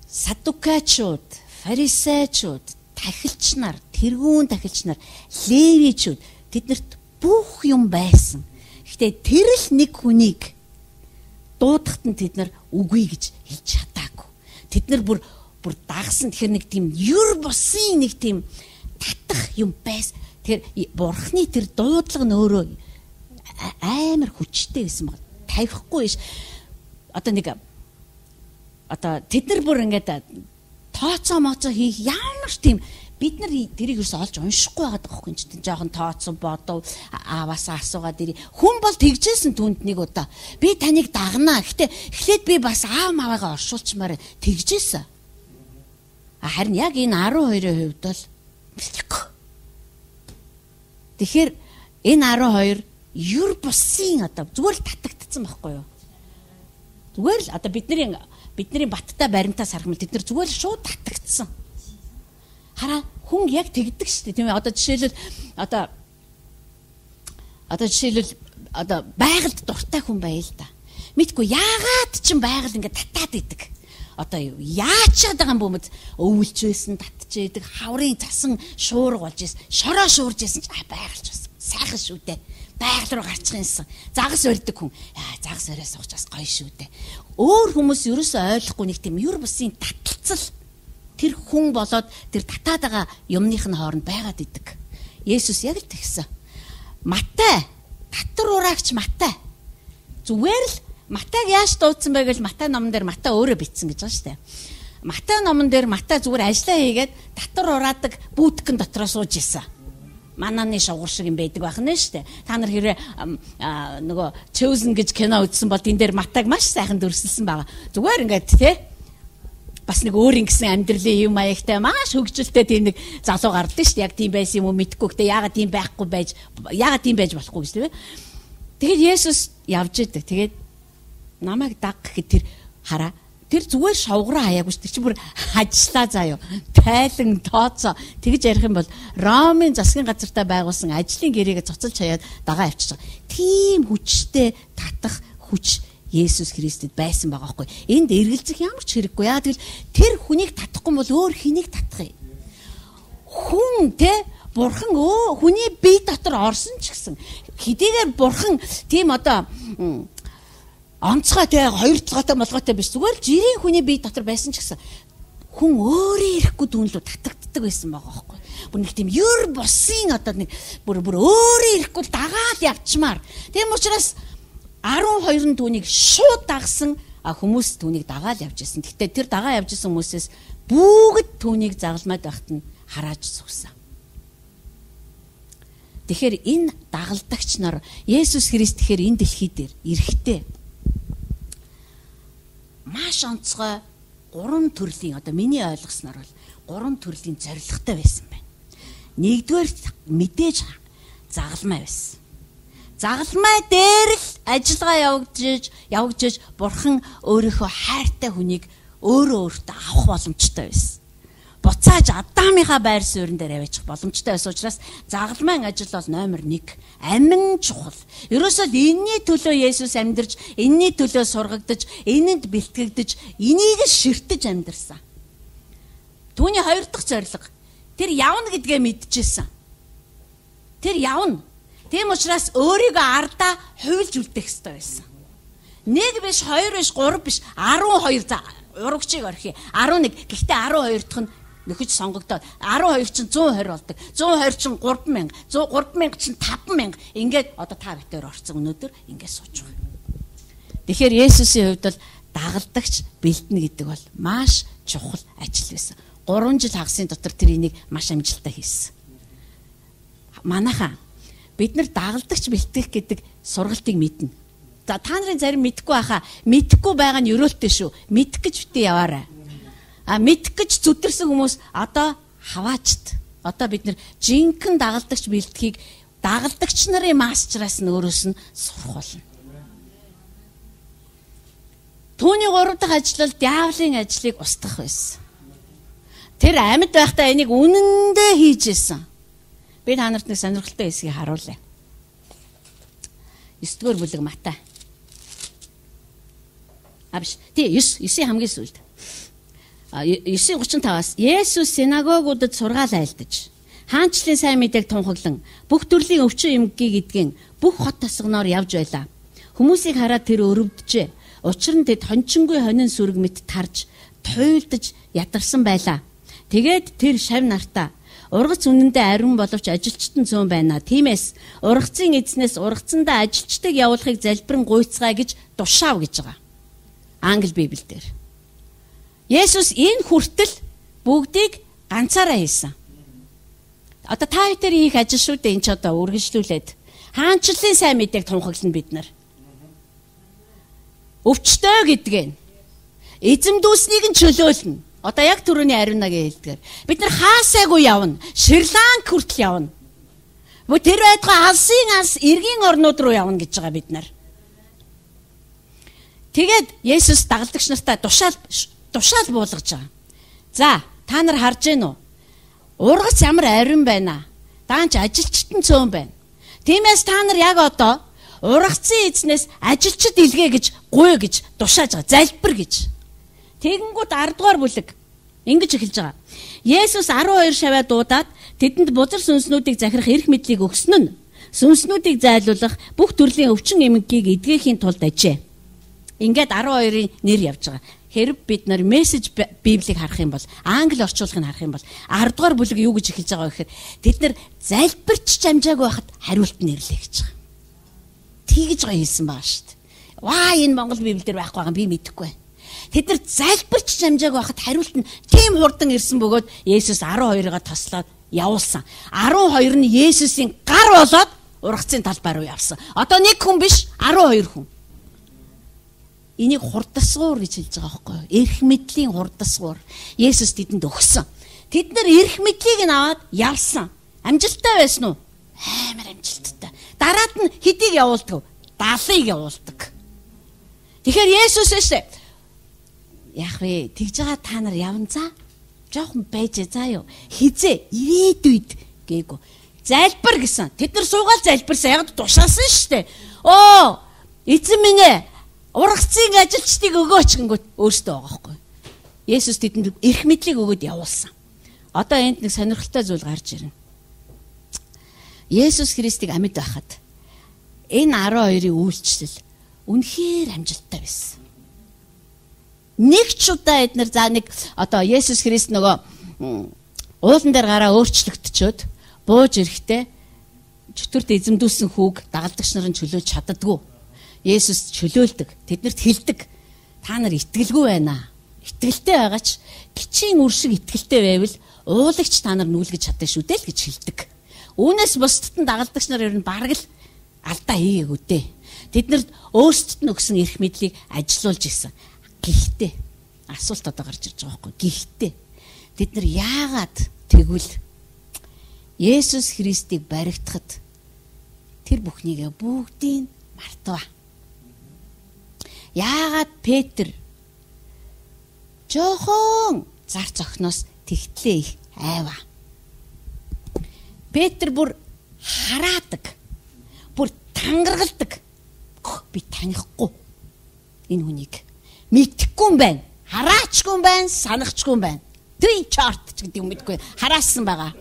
Садукачууд, фарисеучуд, тахилч нар, тэргүүн тахилч нар, левичуд тэднэрт бүх юм байсан. Гэхдээ тэр л нэг хүнийг дуудахт нь тэд нар үгүй гэж хэлж чадаагүй. Тэд нар бүр бүр дагсан тэгэхээр нэг тийм юр босын нэг тийм татах юм байс. Тэгэхээр бурхны тэр дуудлага нь өөрөө амар хүчтэй байсан баг. Тавихгүй биш. Одоо нэг одоо тэд нар бүр ингээд тооцоо моцоо хийх ямар ч тийм бид нар тэрийг ерөөсөй олж уншихгүй байгаа байхгүй юм чинь жоохон тооцоо бодов ааваасаа асуугаад ирээ. Хүн бол тэгжсэн түнд нэг удаа би таныг дагнаа. Гэтэ эхлээд би бас аав маваагаа оршуулчмаар тэгжсэн. Харин яг энэ арван хоёрын хувьд бол бэлтгэхгүй. Тэгэхээр энэ арван хоёр юр бусын одоо зүгээр л татагдсан байхгүй юу? Зүгээр л одоо бидний бидний баттай баримтаас харах юм тэд нар зүгээр л шууд татагдсан. Хараа хүн яг тэгдэг шүү дээ тийм ээ. Одоо жишээлбэл одоо одоо жишээлбэл одоо байгальд дуртай хүн байл та. Мэдгүй яагаад ч байгаль ингээд татаад идэг. Одоо яачаад байгаа юм бөмбөд өвлж байсан, татж идэг, хаврын цасан шуурга болж байсан, шороо шуурж байсан ч байгальч бас сайхан шүү дээ. Байгаль руу гарчих юмсан. Загас өрдөг хүн. Яа, загас өрөө сууч бас гоё шүү дээ. Өөр хүмүүс ерөөсөө ойлгохгүй нэг тийм юр бусын таталцал тэр хүн болоод тэр татаад байгаа юмных нь хооронд байгаад идэг. Есүс яг л тэгсэн. Матай, татвар ураагч Матай. Зүгээр л Матайг яаж дуудсан бэ гэж Матай номон дээр Матай өөрөө бичсэн гэж байгаа шүү дээ. Матай номон дээр Матай зүгээр ажиллаа хийгээд татвар ураадаг бүүтгэн дотроо сууж исэн. Мананы шугар шиг юм байдаг байх нь шүү дээ. Та нар хэрэг нөгөө Chosen гэж кино үзсэн бол энэ дээр Матайг маш сайхан дүрсэлсэн байгаа. Зүгээр ингээд тий бас нэг өөр ингэсэн амьдралын юм маягтай маш хөгжилтэй тийм нэг залуу гардаг шүү дээ. Яг тийм байсан юм уу мэдэхгүй. Гэтэ яагаад тийм байхгүй байж яагаад тийм байж болохгүй гэж тийм. Тэгээд Есүс явж идэг. Тэгээд намайг даг гэхэд тэр хараа тэр зүгээр шовгороо хаяагүй шүү. Тэр чи бүр ажиллаа заяа. Тайлан тооцоо тэгж ярих юм бол Ромын засгийн газартаа байгуулсан ажлын гэрээгээ цоцолж хаяад дагаа авчиж байгаа. Тийм хүчтэй татах хүч Есүс Христэд байсан байгаа байхгүй. Энд эргэлзэх ямар ч хэрэггүй. Яа тэгэл тэр хүнийг татахгүй бол өөр хэнийг татах юм? Хүн те бурхан өө хүний бие дотор орсон ч гэсэн хэдийгээр бурхан тийм одоо онцгой те хоёр цагаатай болгоотой биш зүгээр жирийн хүний бие дотор байсан ч гэсэн хүн өөрөө ирэхгүй дүнлүү татагддаг байсан байгаа байхгүй. Бүр нэг тийм юр босын одоо нэг бүр бүр өөрөө ирэхгүй дагаад явчмаар. Тийм учраас арван хоёр нь түүнийг шууд дагсан хүмүүс түүнийг дагаад явж ирсэн. Гэхдээ тэр дагаа явж ирсэн хүмүүсээс бүгд түүнийг загалмайд байхад нь харааж суусан. Тэгэхээр энэ дагалдагч нар Есүс Христ тэгэхээр энэ дэлхий дээр ирэхдээ маш онцгой гурван төрлийн одоо миний ойлгосноор бол гурван төрлийн зорилготой байсан байна. Нэгдүгээр мэдээж загалмай байсан. Загалмай дээр л ажиллагаа явагдаж явагдаж бурхан өөрийнхөө хайртай хүнийг өөрөө өөртөө авах боломжтой байсан. Буцааж Адамынхаа байр суурин дээр аваачих боломжтой байсан учраас загалмайн ажил бол номер нэг амин чухал. Ерөөсөө энэний төлөө Есүс амьдарч, энэний төлөө сургагдаж, энэнд бэлтгэгдэж, энийг л ширтэж амьдарсан. Түүний хоёр дахь зорилго тэр явна гэдгээ мэдчихсэн. Тэр явна. Тийм учраас өөрийгөө ардаа хуйлж үлдэх ёстой байсан. Нэг биш, хоёр биш, гурав биш, арван хоёр за урагчийг орхи. арван нэг. Гэхдээ арван хоёр дахь нь нөхөж сонгогдоод арван хоёр чинь зуун хорь болдог. зуун хорь чинь гурван мянга, гурван мянга чинь таван мянга. Ингээд одоо та битээр орцсон өнөөдөр ингээд сууж байгаа. Тэгэхээр Есүсийн хувьд бол дагалдагч бэлтэнэ гэдэг бол маш чухал ажил байсан. гурван жил хагасын дотор тэр энийг маш амжилттай хийсэн. Манайхаа бид нар дагалдагч бэлтгэх гэдэг сургалтыг мэднэ. За та нарын зарим мэдхгүй байхаа мэдхгүй байгаа нь ерөөлтэй шүү. Мэдэх гэж битээ яваарай. А мэдэх гэж зүдэрсэн хүмүүс одоо хаваачт. Одоо бид нар жинхэнэ дагалдагч бэлтгийг дагалдагч нарын мастераас нь өөрөөс нь сурах болно. Түүний гурав дахь ажил бол диаволын ажлыг устгах байсан. Тэр амьд байхдаа энийг үнэндээ хийж исэн. Би та нарт нэг сонирхолтой хэсгийг харуулъя. есдүгээр бүлэг Матай. А биш. Тий, есийн хамгийн сүүлд. есийн гучин таваас Есүс синагогуудад сургаал айлдаж, хаанчлалын сайн мэдээг тунхаглан, бүх төрлийн өвчин эмгэгийг идгэн, бүх хот тосгоноор явж байлаа. Хүмүүсийг хараад тэр өрөвдөжээ. Учир нь тэд хончингүй хонин сүрэг мэт тарж, туйлдаж ядарсан байлаа. Тэгээд тэр шав нартаа ургац үнэндээ ариун боловч ажилчтан зүүн байна. Тиймээс ургацын эзнээс ургацандаа ажилчдыг явуулахыг залбирэн гуйцгаа гэж тушаав гэж байгаа. Англи Библиэлд. Есүс энэ хүртэл бүгдийг ганцаараа хийсэн. Одоо та хоёр их ажил шүү дээ, энэ ч одоо үргэлжлүүлээд хаанчлалын сайн мэдээг тунхаглана бид нар. Өвчтөө гэдгээ эзэм дүүснийг нь чөлөөлнө. Одоо яг түрүүний ариунагийн хэлдгээр бид нар хаасайгүй явна. Шри-Ланк хүртэл явна. Бо тэр байтугай алсын алс эргийн орнууд руу явна гэж байгаа бид нар. Тэгээд Есүс дагалдагч нартай тушаал тушаал буулгаж байгаа. За, та нар харж гэнэ үү? Ургац ямар ариун байна. Даанч ажилчтан цөөн байна. Тиймээс та нар яг одоо ургацын эзнээс ажилчид илгээ гэж гуй гэж тушааж байгаа. Залбир гэж. Тэгэнгүүт ард дугаар бүлэг ингэж эхэлж байгаа. Есүс арван хоёр шаваа дуудаад тэдэнд бузар сүнснүүдийг захирах эрх мэдлийг өгсөн нь сүнснүүдийг зайлуулах бүх төрлийн өвчин эмгэгийг эдгэхийн тулд ажээ. Ингээд арван хоёрын нэр явж байгаа. Хэрэг бид нар мессеж Библийг харах юм бол, англи орчуулгыг харах юм бол ард дугаар бүлэг юу гэж эхэлж байгаа вэ гэхээр тэд нар залбирч амжаагүй байхад хариулт нэрлээ гэж байгаа. Тэгж гоё хэлсэн байгаа шүү дээ. Ваа, энэ Монгол Библиэлд байхгүй байгаа би мэдэхгүй байна. Тэд нар залбирч амжаагүй байхад хариулт нь тийм хурдан ирсэн бөгөөд Есүс арван хоёроо тослоод явуулсан. арван хоёр нь Есүсийн гар болоод ургацын талбай руу явсан. Одоо нэг хүн биш, арван хоёр хүн. Энийг хурдасгуур гэж хэлж байгаа байхгүй юу? Эрх мэдлийн хурдасгуур. Есүс тэдэнд өгсөн. Тэд нар эрх мэдлийг нь аваад явсан. Амжилттай байсан уу? Амар амжилттай. Дараад нь хэдийг явуулдаг? даалыг явуулдаг. Тэгэхээр Есүс эсэ яг вэ тэгж байгаа та нар явна за. Жохон байж заа юу. Хизээ ирээдүйд гээгүй. Залбир гэсэн. Тэд нар суугаал залбирсан. Яг тушаасан шүү дээ. Оо, эзэн минь ээ. Ургацын ажилчдыг өгөөч гингүүт өөртөө байгаа байхгүй. Есүс тэдэнд эрх мэдлийг өгөөд явуулсан. Одоо энд нэг сонирхолтой зүйл гарч ирнэ. Есүс Христийг амьд байхад энэ арван хоёрын үйлчлэл үнэхээр амжилттай байсан. Нэг ч удаа эднэр за нэг одоо Есүс Христ нөгөө уулан дээр гараа өөрчлөгдчөөд бууж ирэхдээ чөтгөрт эзэмдүүлсэн хүүг дагалдагч нарын чөлөөж чаддаггүй. Есүс чөлөөлдөг. Тэднэрт хэлдэг. Та нар итгэлгүй байна. Итгэлтэй байгаа ч гिचийн үр шиг итгэлтэй байвал уулагч та нар нүүлгэж чаддаг шүү дээ л гэж хэлдэг. Үүнээс бусдад нь дагалдагч нар ер нь бараг л алдаа хийгээгүй дээ. Тэднэрт өөрсдөд нь өгсөн эрх мэдлийг ажилуулж исэн. Гэхдээ асуулт одоо гарч ирж байгаа байхгүй. Гэхдээ тэд нар яагаад тэгвэл Есүс Христийг баригдахад тэр бүхнийг бүгдийг мартав. Яагаад Петр жохон зар цохноос тэгтлээ их айва. Петр бүр хараадаг. Бүр тангаргалдаг. Би танихгүй энэ хүнийг. Мэдхгүй юм байна. Хараачгүй юм байна, санахчгүй юм байна. Три чарт гэдэг юм мэдгүй. Хараасан байгаа.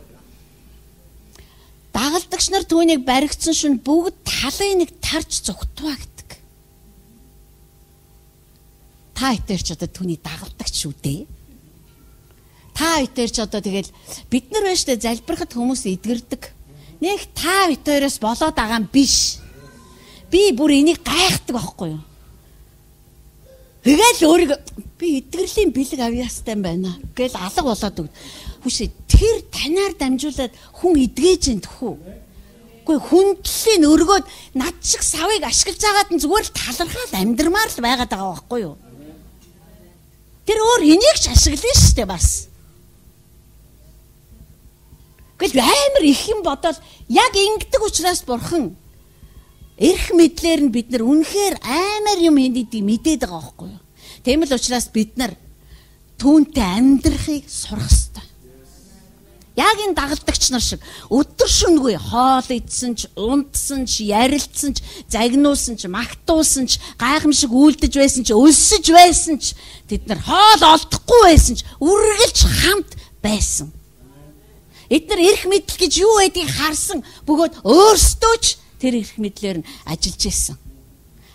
Дагалдагч нар түүнийг баригдсан шин бүгд талын нэг тарж зүгтваагдаг. Та итэр ч одоо түүний дагалдагч шүү дээ. Та итэр ч одоо тэгэл бид нар байж та залбирахад хүмүүс эдгэрдэг. Нэг та итэрээс болоод байгаа юм биш. Би бүр энийг гайхдаг байхгүй юу? Тэгэл өөрийгөө би Би эдгэрлийн бэлэг авьяастай байна гэл алга болоод өгд. Хүшээ тэр танаар дамжуулаад хүн эдгэж ин тэхүү. Үгүй хүндлийн өргөөд над шиг савыг ашиглаж байгаад нь зүгээр л талархаад амьдрмаар л байгаад байгаа байхгүй юу? Тэр өөр энийг ч ашиглана шүү дээ бас. Гэхдээ амар их юм бодоод яг ингэдэг учраас бурхан эрх мэдлэр нь бид нар үнэхээр амар юм хийдгийг мэдээд байгаа байхгүй юу? Тийм л учраас бид нар түүнтэй амьдрахыг сурах ёстой. Яг энэ дагалдагч нар шиг өдөр шөнөгүй хоол идсэн ч, унтсан ч, ярилцсан ч, загнуулсан ч, магтуулсан ч, гайхамшиг үйлдэж байсан ч, өлсөж байсан ч, тэд нар хоол олдохгүй байсан ч, үргэлж хамт байсан. Эдгээр эрх мэдэл гэж юу байдгийг харсан бөгөөд өөрсдөө ч тэр эрх мэдлээр нь ажиллаж байсан.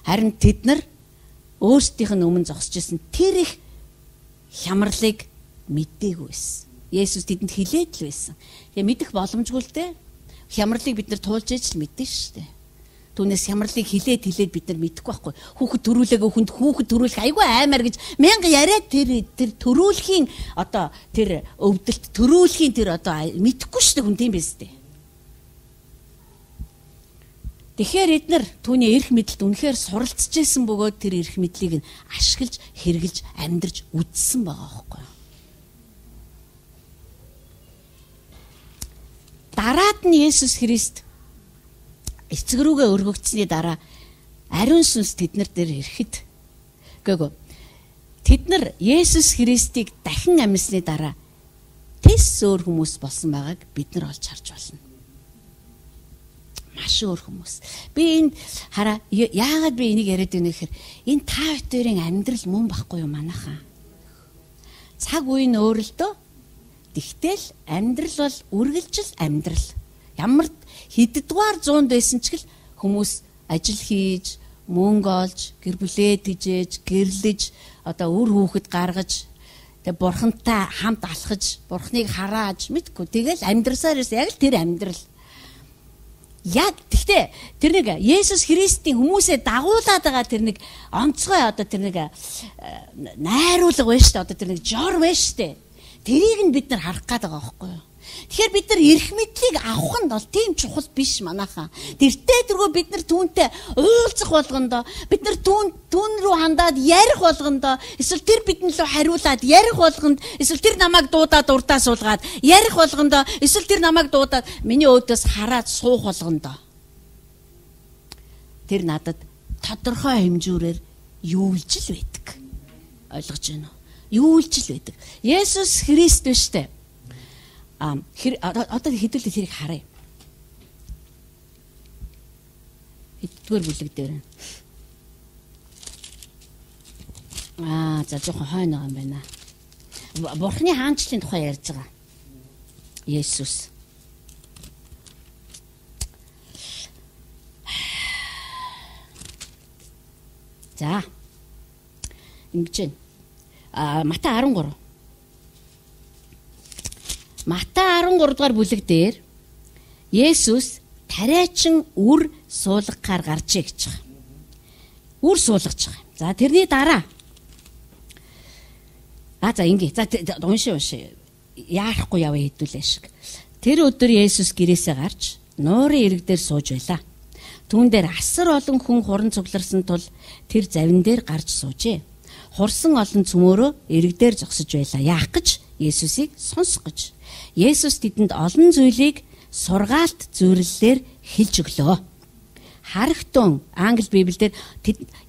Харин тэд нар өөрсдийнх нь өмнө зогсож байсан тэр их хямралыг мэдээгүй байсан. Есүс тэдэнд хэлээд л байсан. Тэгээ мэдэх боломжгүй л дээ. Хямралыг бид нар туулж ээж л мэдэн шүү дээ. Түүнээс хямралыг хэлээд хэлээд бид нар мэдэхгүй байхгүй. Хүүхэд төрүүлээгөө хүнд хүүхэд төрүүлэх айгүй аймаар гэж мянга яриад тэр тэр төрүүлэхийн одоо тэр өвдөлт төрүүлэхийн тэр одоо мэдэхгүй шүү дээ хүн тийм биз дээ. Тэгэхээр эднэр түүний эрх мэдэлд үнэхээр суралцж байсан бөгөөд тэр эрх мэдлийг нь ашиглаж хэрэгжилж амьдарч үдсэн байгаа байхгүй юу? Дараад нь Есүс Христ эцэг рүүгээ өргөгдсөний дараа ариун сүнс тэднэр дээр ирэхэд гээгөө тэд нар Есүс Христийг дахин амьсны дараа тэс өөр хүмүүс болсон байгааг бид нар олж харж байна. Маш өөр хүмүүс. Би энд хараа яагаад би энийг яриад байна гэхээр энэ та хоёрын амьдрал мөн байхгүй юу манайхаа. Цаг үе нь өөр л дөө. Тэгтэл амьдрал бол үргэлжил амьдрал. Ямар хэддугаар зуунд байсан ч гэл хүмүүс ажил хийж, мөнгө олж, гэр бүлээ тэжээж, гэрлэж, одоо үр хүүхэд гаргаж, тэг бурхантай хамт алхаж, бурхныг харааж мэдгүй. Тэгэл амьдрсаар ерөөс яг л тэр амьдрал. Яг тэгтээ тэр нэг Есүс Христийн хүмүүсээ дагуулад байгаа тэр нэг онцгой одоо тэр нэг найруулга байна шүү дээ. Одоо тэр нэг жор байна шүү дээ. Тэрийг нь бид нар харах гээд байгаа байхгүй юу? Тэгэхээр бид нар эрх мэдлийг авах нь бол тийм чухал биш манайхаа. Тэртээ тэргөө бид нар түүнтэй уулзах болгондоо бид нар түүн түүн рүү хандаад ярих болгондоо эсвэл тэр бидэн лөө хариулаад ярих болгонд эсвэл тэр намайг дуудаад урдаа суулгаад ярих болгондоо эсвэл тэр намайг дуудаад миний өөдөөс хараад суух болгондоо тэр надад тодорхой хэмжүүрээр юулж л байдаг. Ойлгож байна уу? Юулж л байдаг. Есүс Христ биш үү? А одоо хэдүүлээ тэрийг харъя. Хэддүгээр бүлэг дээр. Аа, за жоохон хойно байгаа юм байна. Бурхны хаанчлалын тухай ярьж байгаа. Есүс. За. Ингэж байна. А Матай арван гурав. Матай арван гурав дугаар бүлэг дээр Есүс тариачин үр суулгахаар гарчээ гэж байгаа. Үр суулгаж байгаа. За тэрний дараа А за ингэ. За унши унши. Яарахгүй яваа хэдүүлээ шиг. Тэр өдөр Есүс гэрээсээ гарч нуурын ирэг дээр сууж байлаа. Түүн дээр асар олон хүн хуран цугларсан тул тэр завин дээр гарч суужээ. Хурсан олон цөмөөрөө ирэг дээр зогсож байлаа. Яах гэж Есүсийг сонсох гэж. Есүс тэдэнд олон зүйлийг сургаалт зөвлөлөөр хэлж өглөө. Харагтун англи библиэлд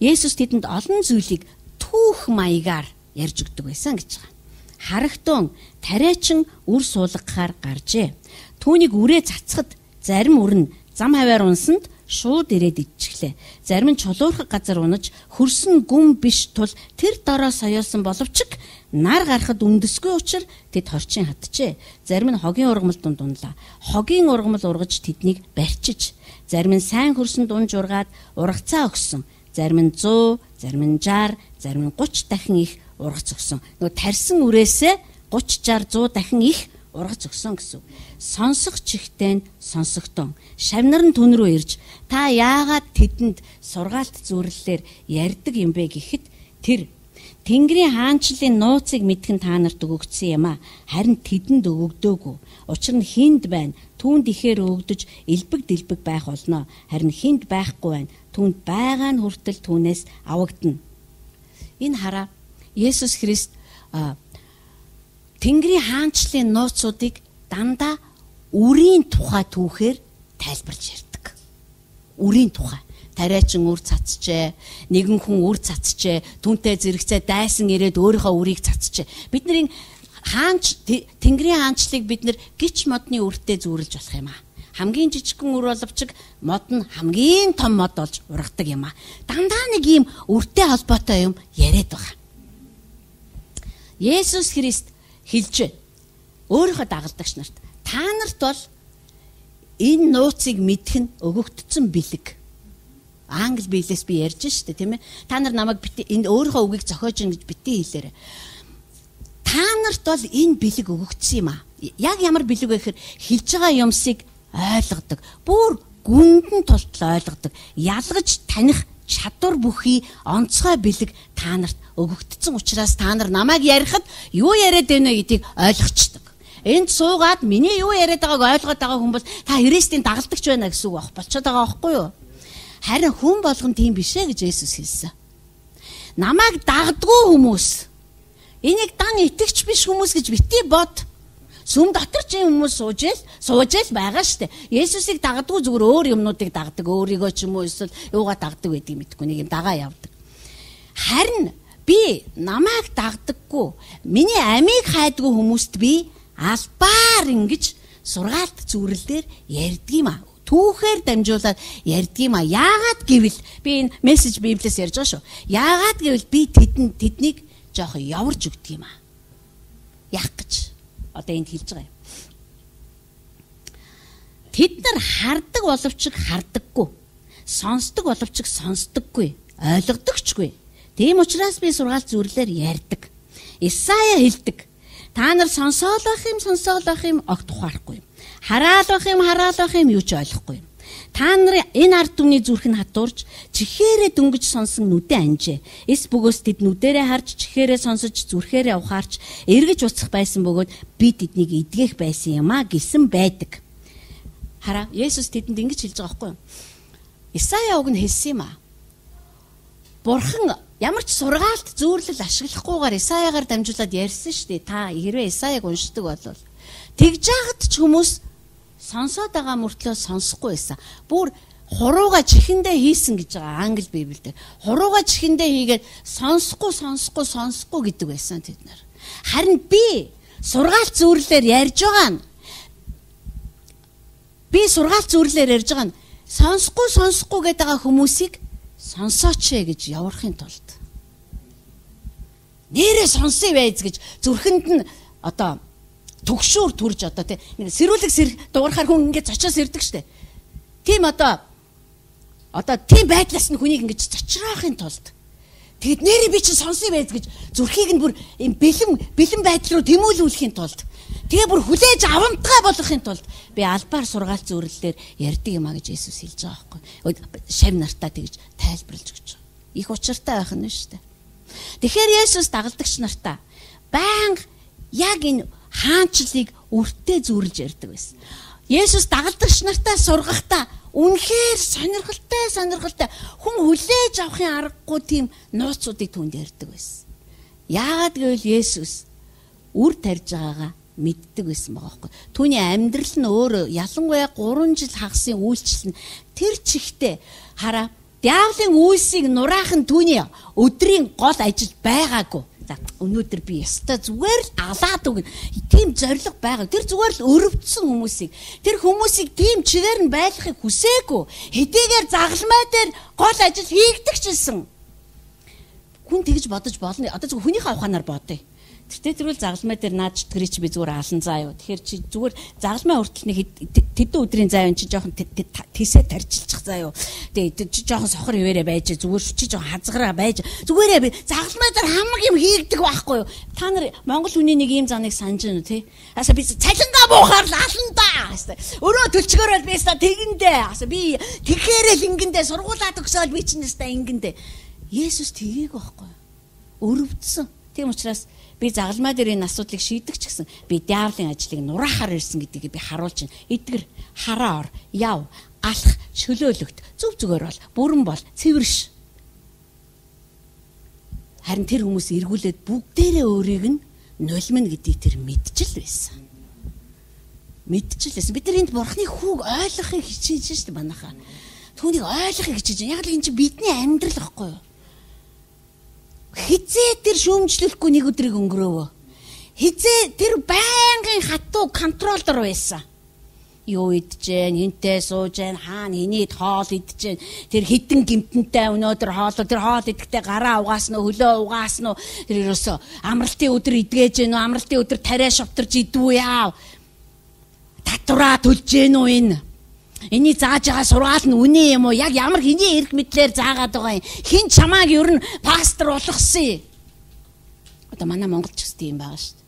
Есүс тэдэнд олон зүйлийг түүх маягаар ярьж өгдөг байсан гэж байгаа. Харагтун тариачин үр суулгахаар гаржээ. Түүнийг үрээ цацхад зарим үр нь зам хаваар унсанд шууд ирээд идчихлээ. Зарим нь чулуурхаг газар унаж хөрсөн гүн биш тул тэр дороо соёолсон боловч нар гарахад үндэсгүй учраас тэд хорчин хатжээ. Зарим нь хогийн ургамал дунд унлаа. Хогийн ургамал ургаж тэднийг барьчиж, зарим нь сайн хөрсөнд унж ургаад ургацаа өгсөн. Зарим нь сто, зарим нь шестьдесят, зарим нь тридцать дахин их ургац өгсөн. Нөгөө тарьсан үрээсээ тридцать, шестьдесят, сто дахин их ургац өгсөн гэсэн. Сонсох чихтэй нь сонсогтон. Шавнар нь түн рүү ирж та яагаад тэдэнд сургаалт зөвлөлөөр ярьдаг юм бэ гэхэд тэр Тэнгэрийн хаанчлалын нууцыг мэдхэн та нарт өгөгдсөн юм а. Харин тэдэнд өгөгдөөгүй. Учир нь хинд байна. Түүнд ихээр өгдөж элбэг дэлбэг байх болно. Харин хинд байхгүй байна. Түүнд байгаа нь хүртэл түүнээс авагдана. Энэ хараа Есүс Христ Тэнгэрийн хаанчлалын нууцуудыг дандаа үрийн тухай түүхээр тайлбарж ярьдаг. Үрийн тухай. Тариачин үр цацжээ, нэгэн хүн үр цацжээ, түнтэй зэрэгцээ дайсан ирээд өөрийнхөө үрийг цацжээ. Бидний хаанч Тэнгэрийн хаанчлалыг бид нар гिच модны үртэй зүүрлж болох юм аа. Хамгийн жижигхэн үр боловч мод нь хамгийн том мод болж ургадаг юм аа. Дандаа нэг ийм үртэй холбоотой юм яриад байгаа. Есүс Христ хэлж өөрийнхөө дагалдагч нарт та нарт бол энэ нууцыг мэдэх нь өгөгдсөн бэлэг. Англи биелээс би ярьж штэ тийм ээ. Та нар намайг бити энэ өөрийнхөө үгийг зохиож ин гэж бити хэлээрэй. Та нарт бол энэ бэлэг өгөгдсөн юм аа. Яг ямар бэлэг вэ гэхээр хэлж байгаа юмсыг ойлгодог. Бүр гүндэн тултал ойлгодог. Ялгаж таних чадвар бүхий онцгой бэлэг та нарт өгөгдсөн учраас та нар намайг ярихад юу яриад байна вэ гэдгийг ойлгочдөг. Энд суугаад миний юу яриад байгааг ойлгоод байгаа хүн бол та Христийн дагалдагч байна гэсэн үг байх болчиход байгаа байхгүй юу? Харин хүн болгон тийм биш ээ гэж Есүс хэлсэн. Намайг дагдгүй хүмүүс. Энийг дан итгэж биш хүмүүс гэж бити бод. Сүм дотор ч юм хүмүүс сууж ил, сууж ил байгаа штэ. Есүсийг дагдгүй зүгээр өөр юмнуудыг дагдаг, өөрийгөө ч юм уу эсвэл юугаа дагдаг байдгийг мэдгүй нэг юм дагаа явдаг. Харин би намайг дагдаггүй, миний амийг хайдгүй хүмүүст би албаар ингэж сургаалт зүрлэлээр ярьдаг юм аа. Түүхээр дамжуулаад ярьдаг юм а. Яагаад гэвэл би энэ мессеж Библиэс ярьж байгаа шүү. Яагаад гэвэл би тэдэнд тэднийг жоох яварж өгдөг юм а. Яах гэж одоо энд хэлж байгаа юм. Тэд нар хардаг боловч хардаггүй. Сонсдог боловч сонсдоггүй. Ойлгодогчгүй. Тийм учраас би сургаалт зүрлэлээр ярьдаг. Исая хэлдэг. Та нар сонсоол байх юм, сонсоол байх юм огт ухаарахгүй юм. Хараал байх юм, хараал байх юм юу ч ойлгохгүй юм. Та нарын энэ ард түмний зүрх нь хатуурж, чихээрээ дөнгөж сонсон нүдэ анжээ. Эс бөгөөс тэд нүдэрээ харж, чихээрээ сонсож, зүрхээрээ ухаарч, эргэж уцах байсан бөгөөд би тэднийг эдгэх байсан юм а гэсэн байдаг. Хараа, Есүс тэдэнд ингэж хэлж байгаа байхгүй юу? Исая уг нь хэлсэн юм а. Бурхан ямар ч сургаалт зүйрлэл ашиглахгүйгээр Исаягаар дамжуулаад ярьсан шүү дээ. Та хэрвээ Исаяг уншдаг бол тэгж яагаад ч хүмүүс сонсоод байгаа мөртлөө сонсохгүй байсан. Бүр хурууга чихэндээ хийсэн гэж байгаа англи библиэд. Хурууга чихэндээ хийгээд сонсохгүй сонсохгүй сонсохгүй гэдэг байсан тэд нар. Харин би сургаалт зүйрлэлээр ярьж байгаа нь би сургаалт зүйрлэлээр ярьж байгаа нь сонсохгүй сонсохгүй гэдэг байгаа хүмүүсийг сонсооч ээ гэж явуулахын тулд нэрээ сонсъё байз гэж зүрхэнд нь одоо төгшөөр төрж одоо тий сэрүүлэг сэр дуурахаар хүн ингэж зочоос ирдэг штэ. Тийм одоо одоо тийм байдлаас нь хүнийг ингэж зочраахын тулд тэгэд нэрээ би чинь сонсъё байз гэж зүрхийг нь бүр юм бэлэн бэлэн байдал руу тэмүүлүүлэхийн тулд тэгээ бүр хүлээж авамтгай болгохын тулд би албаар сургаалт зүйрлэлээр ярьдаг юм а гэж Есүс хэлж байгаа байхгүй. Шав нартаа тэгж тайлбарлаж өгч байгаа. Их учиртай байх нь шүү дээ. Тэгэхээр Есүс дагалдагч нартаа байнга яг энэ хаанчлалыг өртөө зүйрлж ярьдаг байсан. Есүс дагалдагч нартаа сургахдаа үнэхээр сонирхолтой сонирхолтой хүн хүлээж авахын аргагүй тийм нууцуудыг түнд ярьдаг байсан. Яагаад гэвэл Есүс үр тарьж байгаагаа мэддэг байсан байгаа байхгүй. Түүний амьдрал нь өөрөө ялангуяа гурван жил хагасын үйлчлэл нь тэр чихтэй хараа диаволын үйлсийг нураахан түүний өдрийн гол ажил байгаагүй. За өнөөдөр би ястаа зүгээр л алаад өгнө. Тийм зориг байгаа. Тэр зүгээр л өрөвдсөн хүмүүсийг тэр хүмүүсийг тийм чигээр нь байлгахыг хүсээгүй. Хэдийгээр загалмай дээр гол ажил хийгдэг ч гэсэн хүн тэгж бодож болно. Одоо зөвхөн хүнийхээ ухаанаар бодъё. Тэртээ тэрүүл загалмай дээр наад читгэрий чи би зүгээр алан заа юу. Тэгэхээр чи зүгээр загалмай хүртэл нэг тэдэн өдрийн заа юм чи жоохон тийсээ тарчилчих заа юу. Тэгээ чи жоохон сохор хിവэрэ байж зүгээр чи жоохон хазгараа байж зүгээрээ би загалмай дээр хамаг юм хийгдэг байхгүй юу. Та нар Монгол хүний нэг ийм заныг санаж байна уу те. Аса би цалингаа буухаар л алан даа. Өрөө төлчгөр бол би ста тэгэндээ. Аса би тэгэхээр л ингэндээ сургуулаад өгсөөл би чинь ста ингэндээ. Есүс тгийг байхгүй юу. өрөвдсөн. Тийм учраас би загалмай дээр энэ асуудлыг шийдэх ч гэсэн би диаволын ажлыг нураахаар ирсэн гэдгийг би харуулж байна. Эдгэр хараа ор, яв, алах, чөлөөлөгт, зүв зүгээр бол, бүрэн бол, цэвэрш. Харин тэр хүмүүс эргүүлээд бүгдээрээ өөрийг нь нулимна гэдгийг тэр мэдчил байсан. Мэдчил байсан. Бид нар энд бурхны хүүг ойлгохыг хичээж шүү дээ манайхаа. Түүнийг ойлгохыг хичээж. Яг л энэ чинь бидний амьдрал гэхгүй юу? Хизээ тэр шүүмжлэхгүй нэг өдрийг өнгөрөөвөө. Хизээ тэр байнгын хатуу контрол дор байсан. Юу идэж, энтэй сууж, хаана хинийд хоол идэж, тэр хідэн гимтэнтэй өнөөдөр хоол, тэр хоол идэхдээ гараа угаасна уу, хөлөө угаасна уу, тэр ерөөсөө амралтын өдөр идгээж гэнэ үү, амралтын өдөр тариа шовтарж идвүү яав. Татвараа төлж гэнэ үү энэ? Эний зааж байгаа сургаал нь үнэ юм уу? Яг ямар хэний эрх мэдлэр заагаад байгаа юм? Хин чамааг ер нь пастор болгосон. Одоо манай Монголч гэсэн юм байгаа шүү дээ.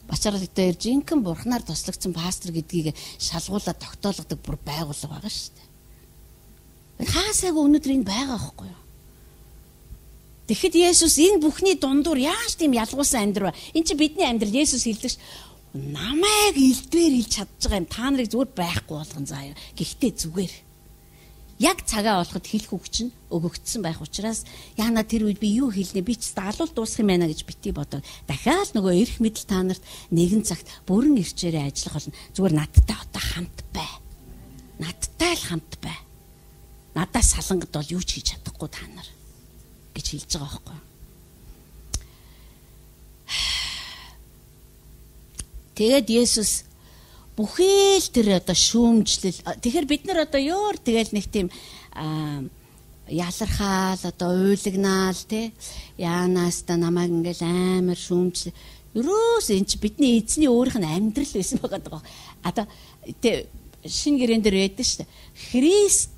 Бачаар дээр жинхэнэ бурхнаар туслагдсан пастор гэдгийг шалгуулаад тогтоологдог бүр байгууллага байгаа шүү дээ. Хаасайг өнөөдөр энэ байгаа байхгүй юу? Тэгэхэд Есүс энэ бүхний дундуур яаж тийм ялгуулсан амьдрал вэ? Энд чи бидний амьдрал Есүс хэлдэг ш. Намайг илдвэр хэлж чадж байгаа юм. Та нарыг зүгээр байхгүй болгон заяа. Гэхдээ зүгээр. Яг цагаа олоход хэлэх үг чинь өгөгдсөн байх учраас яана тэр үед би юу хэлнэ би ч даалуул дуусах юм байна гэж бити бодоод дахиад нөгөө эрх мэдэл та нарт нэгэн цагт бүрэн ирчээрээ ажиллах болно. Зүгээр надтай одоо хамт бай. Надтай л хамт бай. Надаас салангад бол юу ч хийж чадахгүй та нар гэж хэлж байгаа байхгүй юу? Тэгээд Есүс бүхэл тэр одоо шүүмжлэл тэгэхээр бид нар одоо ёор тэгэл нэг тийм ялархаал одоо уйлагнаал те яанаас та намайг ингээл амар шүүмжлэл ерөөс эн чи бидний эзний өөрийнх нь амьдрал байсан байгаа даа. Одоо тэ шин гэрэн дээр яддаг шүү дээ. Христ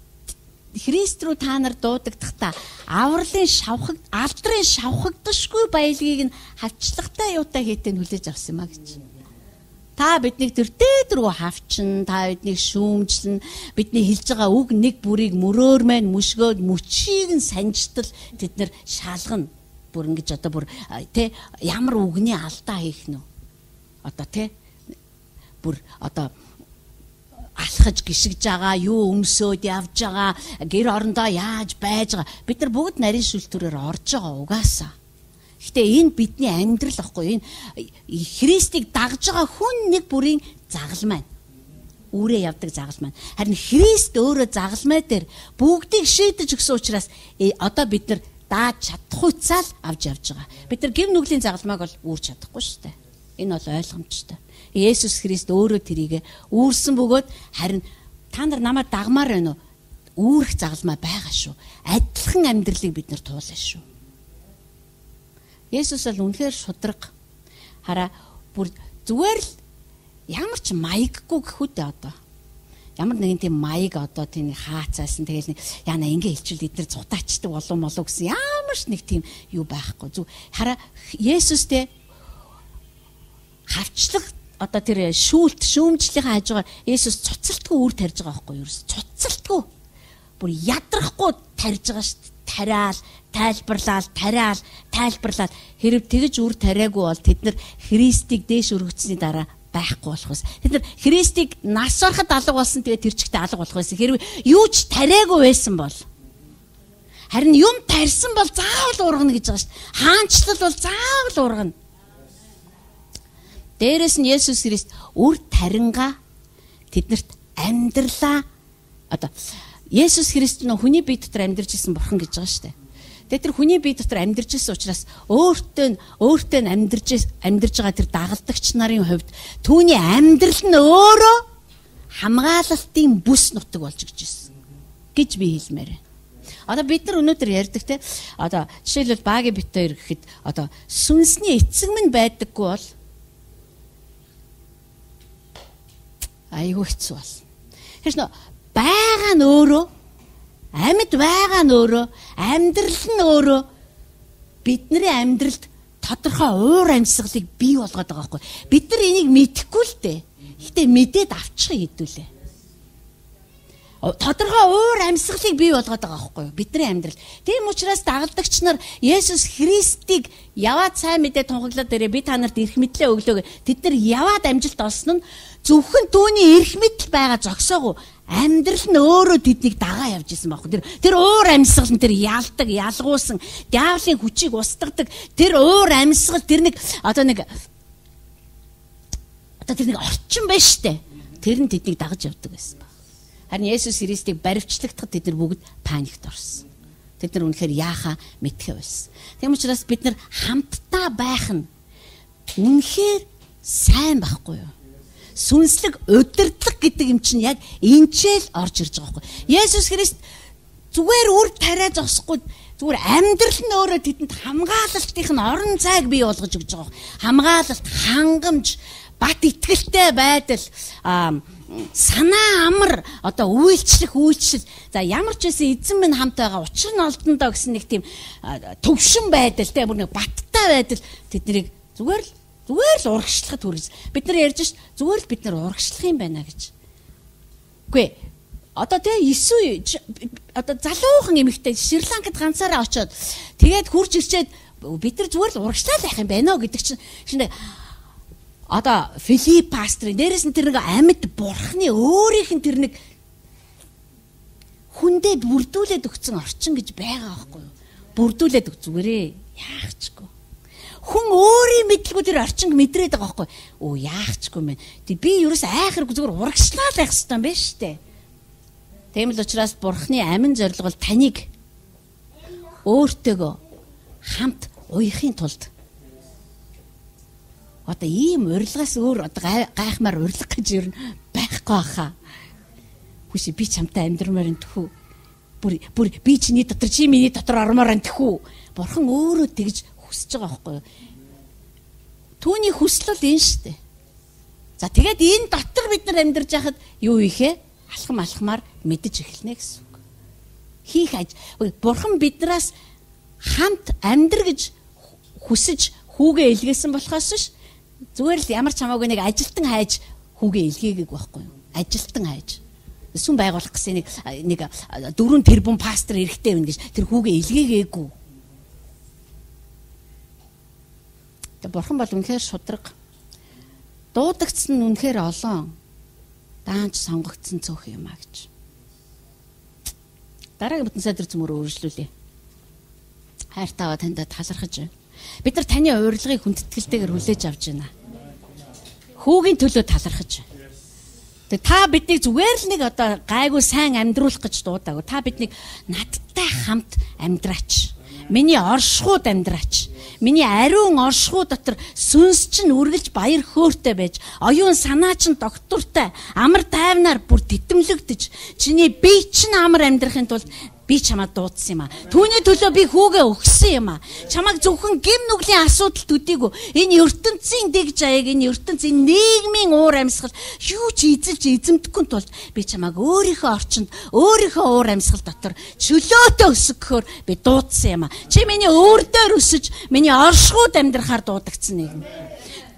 Христ рүү та нар дуудагдахтаа авралын шавхаг алдрын шавхагдшгүй баялагийг нь хавчлагтай юутай хийтэн хүлээж авсан юм а гэж. Та биднийг тэр дээд рүү хавчин, та биднийг шүүмжлэн, бидний хэлж байгаа үг нэг бүрийг мөрөөр мэн мүшгөөд мөчийг нь санжтал тэд нар шалгана. Бүр ингэж одоо бүр тэ ямар үгний алдаа хийх нь. Одоо тэ бүр одоо алхаж гიშгэж байгаа, юу өмсөөд явж байгаа, гэр орондоо яаж байж байгаа. Бид нар бүгд нарийн шүлтүрээр орж байгаа угаасаа. Гэтэ энэ бидний амьдрал ахгүй энэ Христийг дагж байгаа хүн нэг бүрийн загалмай. Үүрээ явдаг загалмай. Харин Христ өөрөө загалмай дээр бүгдийг шийдэж өгсөн учраас одоо бид нар дааж чадахуйцаал авч явж байгаа. Бид нар гэв нүглийн загалмайг бол үүрч чадахгүй шүү дээ. Энэ бол ойлгомжтой. Есүс Христ өөрөө тэрийг үүрсэн бөгөөд харин та нар намайг дагмаар байна уу? Үүрэх загалмай байгаа шүү. Адилхан амьдралыг бид нар туулна шүү. Есүс бол үнэхээр шудраг. Хараа бүр зүгээр л ямар ч маяггүй гэхүү дээ одоо. Ямар нэгэн тийм маяг одоо тийм хаацаасан тэгэл яна ингэ хэлчихвэл эдгээр цутаачдаг болов молоо гэсэн ямар ч нэг тийм юу байхгүй. Зүг хараа Есүстэй хавчлаг одоо тэр шүүлт шүүмжлэлийн хажуугаар Есүс цуцалтгүй үр тарьж байгаа байхгүй юу? Цуцалтгүй. Бүр ядрахгүй тарьж байгаа шүү дээ. Тариал, тайлбарлал, тариал, тайлбарлал хэрэг тэгж үр тариагүй бол тэд нар Христийг дээш өргөцсөний дараа байхгүй болох байсан. Тэд нар Христийг нас ороход алга болсон тэгээд тэр чигтээ алга болох байсан. Хэрэг юу ч тариагүй байсан бол харин юм тарьсан бол заавал ургана гэж байгаа шүү дээ. Хаанчлал бол заавал ургана. Дээрээс нь Есүс Христ үр таринга тэднэрт амьдралаа одоо Есүс Христ нөө хүний бие дотор амьдарч исэн бурхан гэж байгаа шүү дээ. Тэгээд тэр хүний бие дотор амьдарч исэн учраас өөртөө өөртөө амьдарч амьдарж байгаа тэр дагалдагч нарын хувьд түүний амьдрал нь өөрөө хамгаалалтын бүс нутаг болж гэж ирсэн гэж би хэлмээр байна. Одоо бид нар өнөөдөр ярьдаг те одоо жишээлбэл багийн бит хоёр гэхэд одоо сүнсний эцэг минь байдаггүй бол айгүй хэцүү бол. Хэрэг нөө байгаа нь өөрөө амьд байгаа нь өөрөө амьдрал нь өөрөө бидний амьдралд тодорхой уур амьсгалыг бий болгоод байгаа байхгүй. Бид нар энийг мэдэхгүй л дээ. Гэтэ мэдээд авчих хэдүүлээ. тодорхой уур амьсгалыг бий болгоод байгаа байхгүй юу? Бидний амьдрал. Тийм учраас дагалдагч нар Есүс Христийг яваад сайн мэдээ тунхаглаад ирээ би та нарт эрх мэдлээ өглөө. Тэд нар яваад амжилт олсон нь зөвхөн түүний эрх мэдэл байгаа зогсоогүй. Амьдрал нь өөрөө тэднийг дагаа явж исэн байхгүй. Тэр тэр уур амьсгал нь тэр ялдаг, ялгуусан, диаволын хүчийг устгадаг. Тэр уур амьсгал тэр нэг одоо нэг одоо тэр нэг орчин байна штэ. Тэр нь тэднийг дагаж явдаг байсан. Харин Есүс Христийг баривчлагдахад тэд нар бүгд паникт орсон. Тэд нар үнэхээр яахаа мэдхээ байсан. Тийм учраас бид нар хамтдаа байх нь үнэхээр сайн байхгүй юу? Сүнслэг удирдлага гэдэг юм чинь яг энчээл орж ирж байгаа байхгүй. Есүс Христ зүгээр үр тариа зогсохгүй зүгээр амьдрал нь өөрөө тэдэнд хамгаалалтын орон зайг бий болгож өгч байгаа. Хамгаалалт, хангамж, бат итгэлтэй байдал, санаа амар одоо үйлчлэх үйлчлэл за ямар ч байсан эзэн минь хамт байгаа учир нь олдондоо гэсэн нэг тийм төвшин байдал те бүр нэг баттай байдал тэднийг зүгээр л зүгээр л урагшлахад хүргэж бид нар ярьж ш зүгээр л бид нар урагшлах юм байна гэж. Үгүй одоо те Иесүй одоо залуухан эмэгтэй Шри-Ланкад ганцаараа очиод тэгээд хурж ирчээд бид нар зүгээр л урагшлаад байх юм байна оо гэдэг чинь шинэ одоо Филипп пастрын дээрээс нь тэр нэг амьд бурхны өөрийнх нь тэр нэг хүндээ бүрдүүлээд өгсөн орчин гэж байгаа байхгүй юу? Бүрдүүлээд өг зүгээрээ яахчгүй. Хүн өөрийн мэдлгүй тэр орчинг мэдрээд байгаа байхгүй юу? Оо яахчгүй мэн. Тэг би ерөөс айхаргүй зүгээр урагшлаад байх хэрэгтэй юм байна штэ. Тийм л учраас бурхны амин зорилго бол таныг өөртөөгөө хамт уяхын тулд одоо ийм урилгаас өөр одоо гайхмаар урилга гэж юу байхгүй хаа. Хүсээ би чамтай амьдрмаар энэ тхүү. Бүр бүр би чиний дотор чи миний дотор ормоор энэ тхүү. Бурхан өөрөө тэгж хүсэж байгаа байхгүй юу? Түүний хүсэл бол энэ шүү дээ. За тэгээд энэ дотор бид нар амьдарч байхад юу ийхэ? Алхам алхмаар мэдэж эхэлнэ гэсэн үг. Хийх аж. Бурхан биднээс хамт амьдр гэж хүсэж хүүгээ илгээсэн болохоос ш зүгээр л ямар ч хамаагүй нэг ажилтан хайж хүүгээ илгээгээг байхгүй юу? Ажилтан хайж. Сүм байгуулах гэсэн нэг нэг дөрвөн тэрбум пастор эрэхтэй байна гэж тэр хүүгээ илгээгээгүй. Тэг бурхан бол үнэхээр шудраг. Дуудагдсан нь үнэхээр олон. Даанч сонгогдсон цөөх юм а гэж. Дараагийн бүтэн сайдар зөмөр өөрчлүүлье. Хайртайгаа танд талархаж байна. Бид нар таны урилгыг хүндэтгэлтэйгээр хүлээж авч байна. Хүүгийн төлөө талархаж байна. Тэг та биднийг зүгээр л нэг одоо гайгүй сайн амьдруулах гэж дуудаагүй. Та биднийг надтай хамт амьдраач. Миний оршихуйд амьдраач. Миний ариун оршихуй дотор сүнс чинь үргэлж баяр хөөртэй байж, оюун санаа чинь доктортой, амар тайвнаар бүр титэмлэгдэж, чиний бие чинь амар амьдрахын тулд би чамаа дуудсан юм а. Түүний төлөө би хүүгээ өгсөн юм а. Чамайг зөвхөн гим нүглийн асуудалд үдээгүй. Энэ ертөнцийн дэг жаяг, энэ ертөнцийн нийгмийн уур амьсгал юу ч эзэлж эзэмдэхгүй тулд би чамайг өөрийнхөө орчинд, өөрийнхөө уур амьсгал дотор чөлөөтэй өсгөхөөр би дуудсан юм а. Чи миний өөр дээр өсөж, миний оршихуйд амьдрахаар дуудагдсан нэгэн.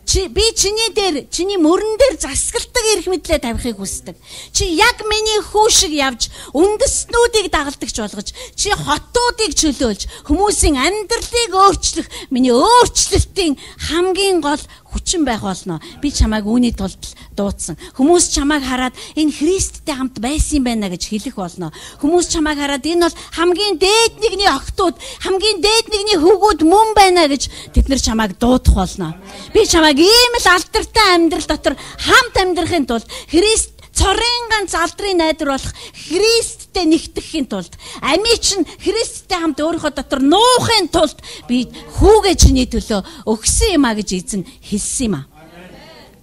Чи би чиний дээр, чиний мөрөн дээр засгалдаг эрх мэдлээ тавихыг хүсдэг. Чи яг миний хүү шиг явж, үндэстнүүдийг дагалдагч болгож, чи хотуудыг чөлөөлж, хүмүүсийн амьдралыг өөрчлөх, миний өөрчлөлтийн хамгийн гол хүчин байх болно. Би чамайг үүний тулд дуудсан. Хүмүүс чамайг хараад энэ Христтэй хамт байсан юм байна гэж хэлэх болно. Хүмүүс чамайг хараад энэ бол хамгийн дээд нэгний охтууд, хамгийн дээд нэгний хөвгүүд мөн байна гэж тэд нар чамайг дуудах болно. Би чамайг ийм л алдартай амьдрал дотор хамт амьдрахын тулд Христ цорын ганц алдрын найдвар болох Христтэй нэгтгэхийн тулд амийн чинь Христтэй хамт өөрийнхөө дотор нуухын тулд би хүүгээ чиний төлөө өгсөн юм а гэж эзэн хэлсэн юм а.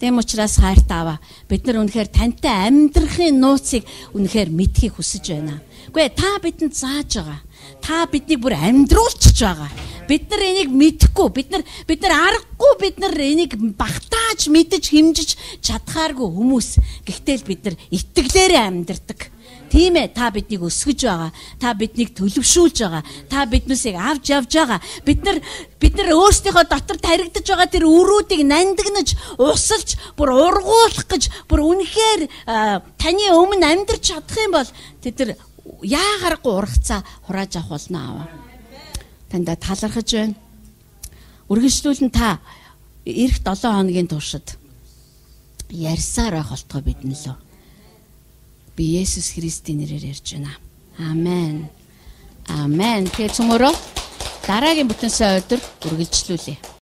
Тэм учраас хайртаа аваа. Бид нар үнэхээр тантай амьдрахын нууцыг үнэхээр мэдхийг хүсэж байна. Үгүй ээ, та бидэнд зааж байгаа. Та биднийг бүр амьдруулчихж байгаа. Бид нар энийг мэдэхгүй, бид нар бид нар аргагүй, бид нар энийг багтааж мэдэж хэмжиж чадхааргүй хүмүүс. Гэхдээ л бид нар итгэлээрээ амьдардаг. Тийм ээ, та биднийг өсгөж байгаа. Та биднийг төлөвшүүлж байгаа. Та биднээсээ авч явж байгаа. Бид нар бид нар өөрсдийнхөө дотор таригдж байгаа тэр өрүүдийг нандинаж, усалж, бүр ургуулах гэж, бүр үнэхээр таны өмнө амьдарч чадах юм бол тэд нар яагаргүй ургацаа хурааж авах болно аваа. Танда талархаж байна. Үргэлжлүүлэн та эх долоон хоногийн туршид ярьсаар байх болтгой бидэн лөө. Би Есүс Христийн нэрээр ярьж байна. Амен. Амен. Тэгээ цөмөрөө дараагийн бүтэнсээ өдөр үргэлжлүүлье.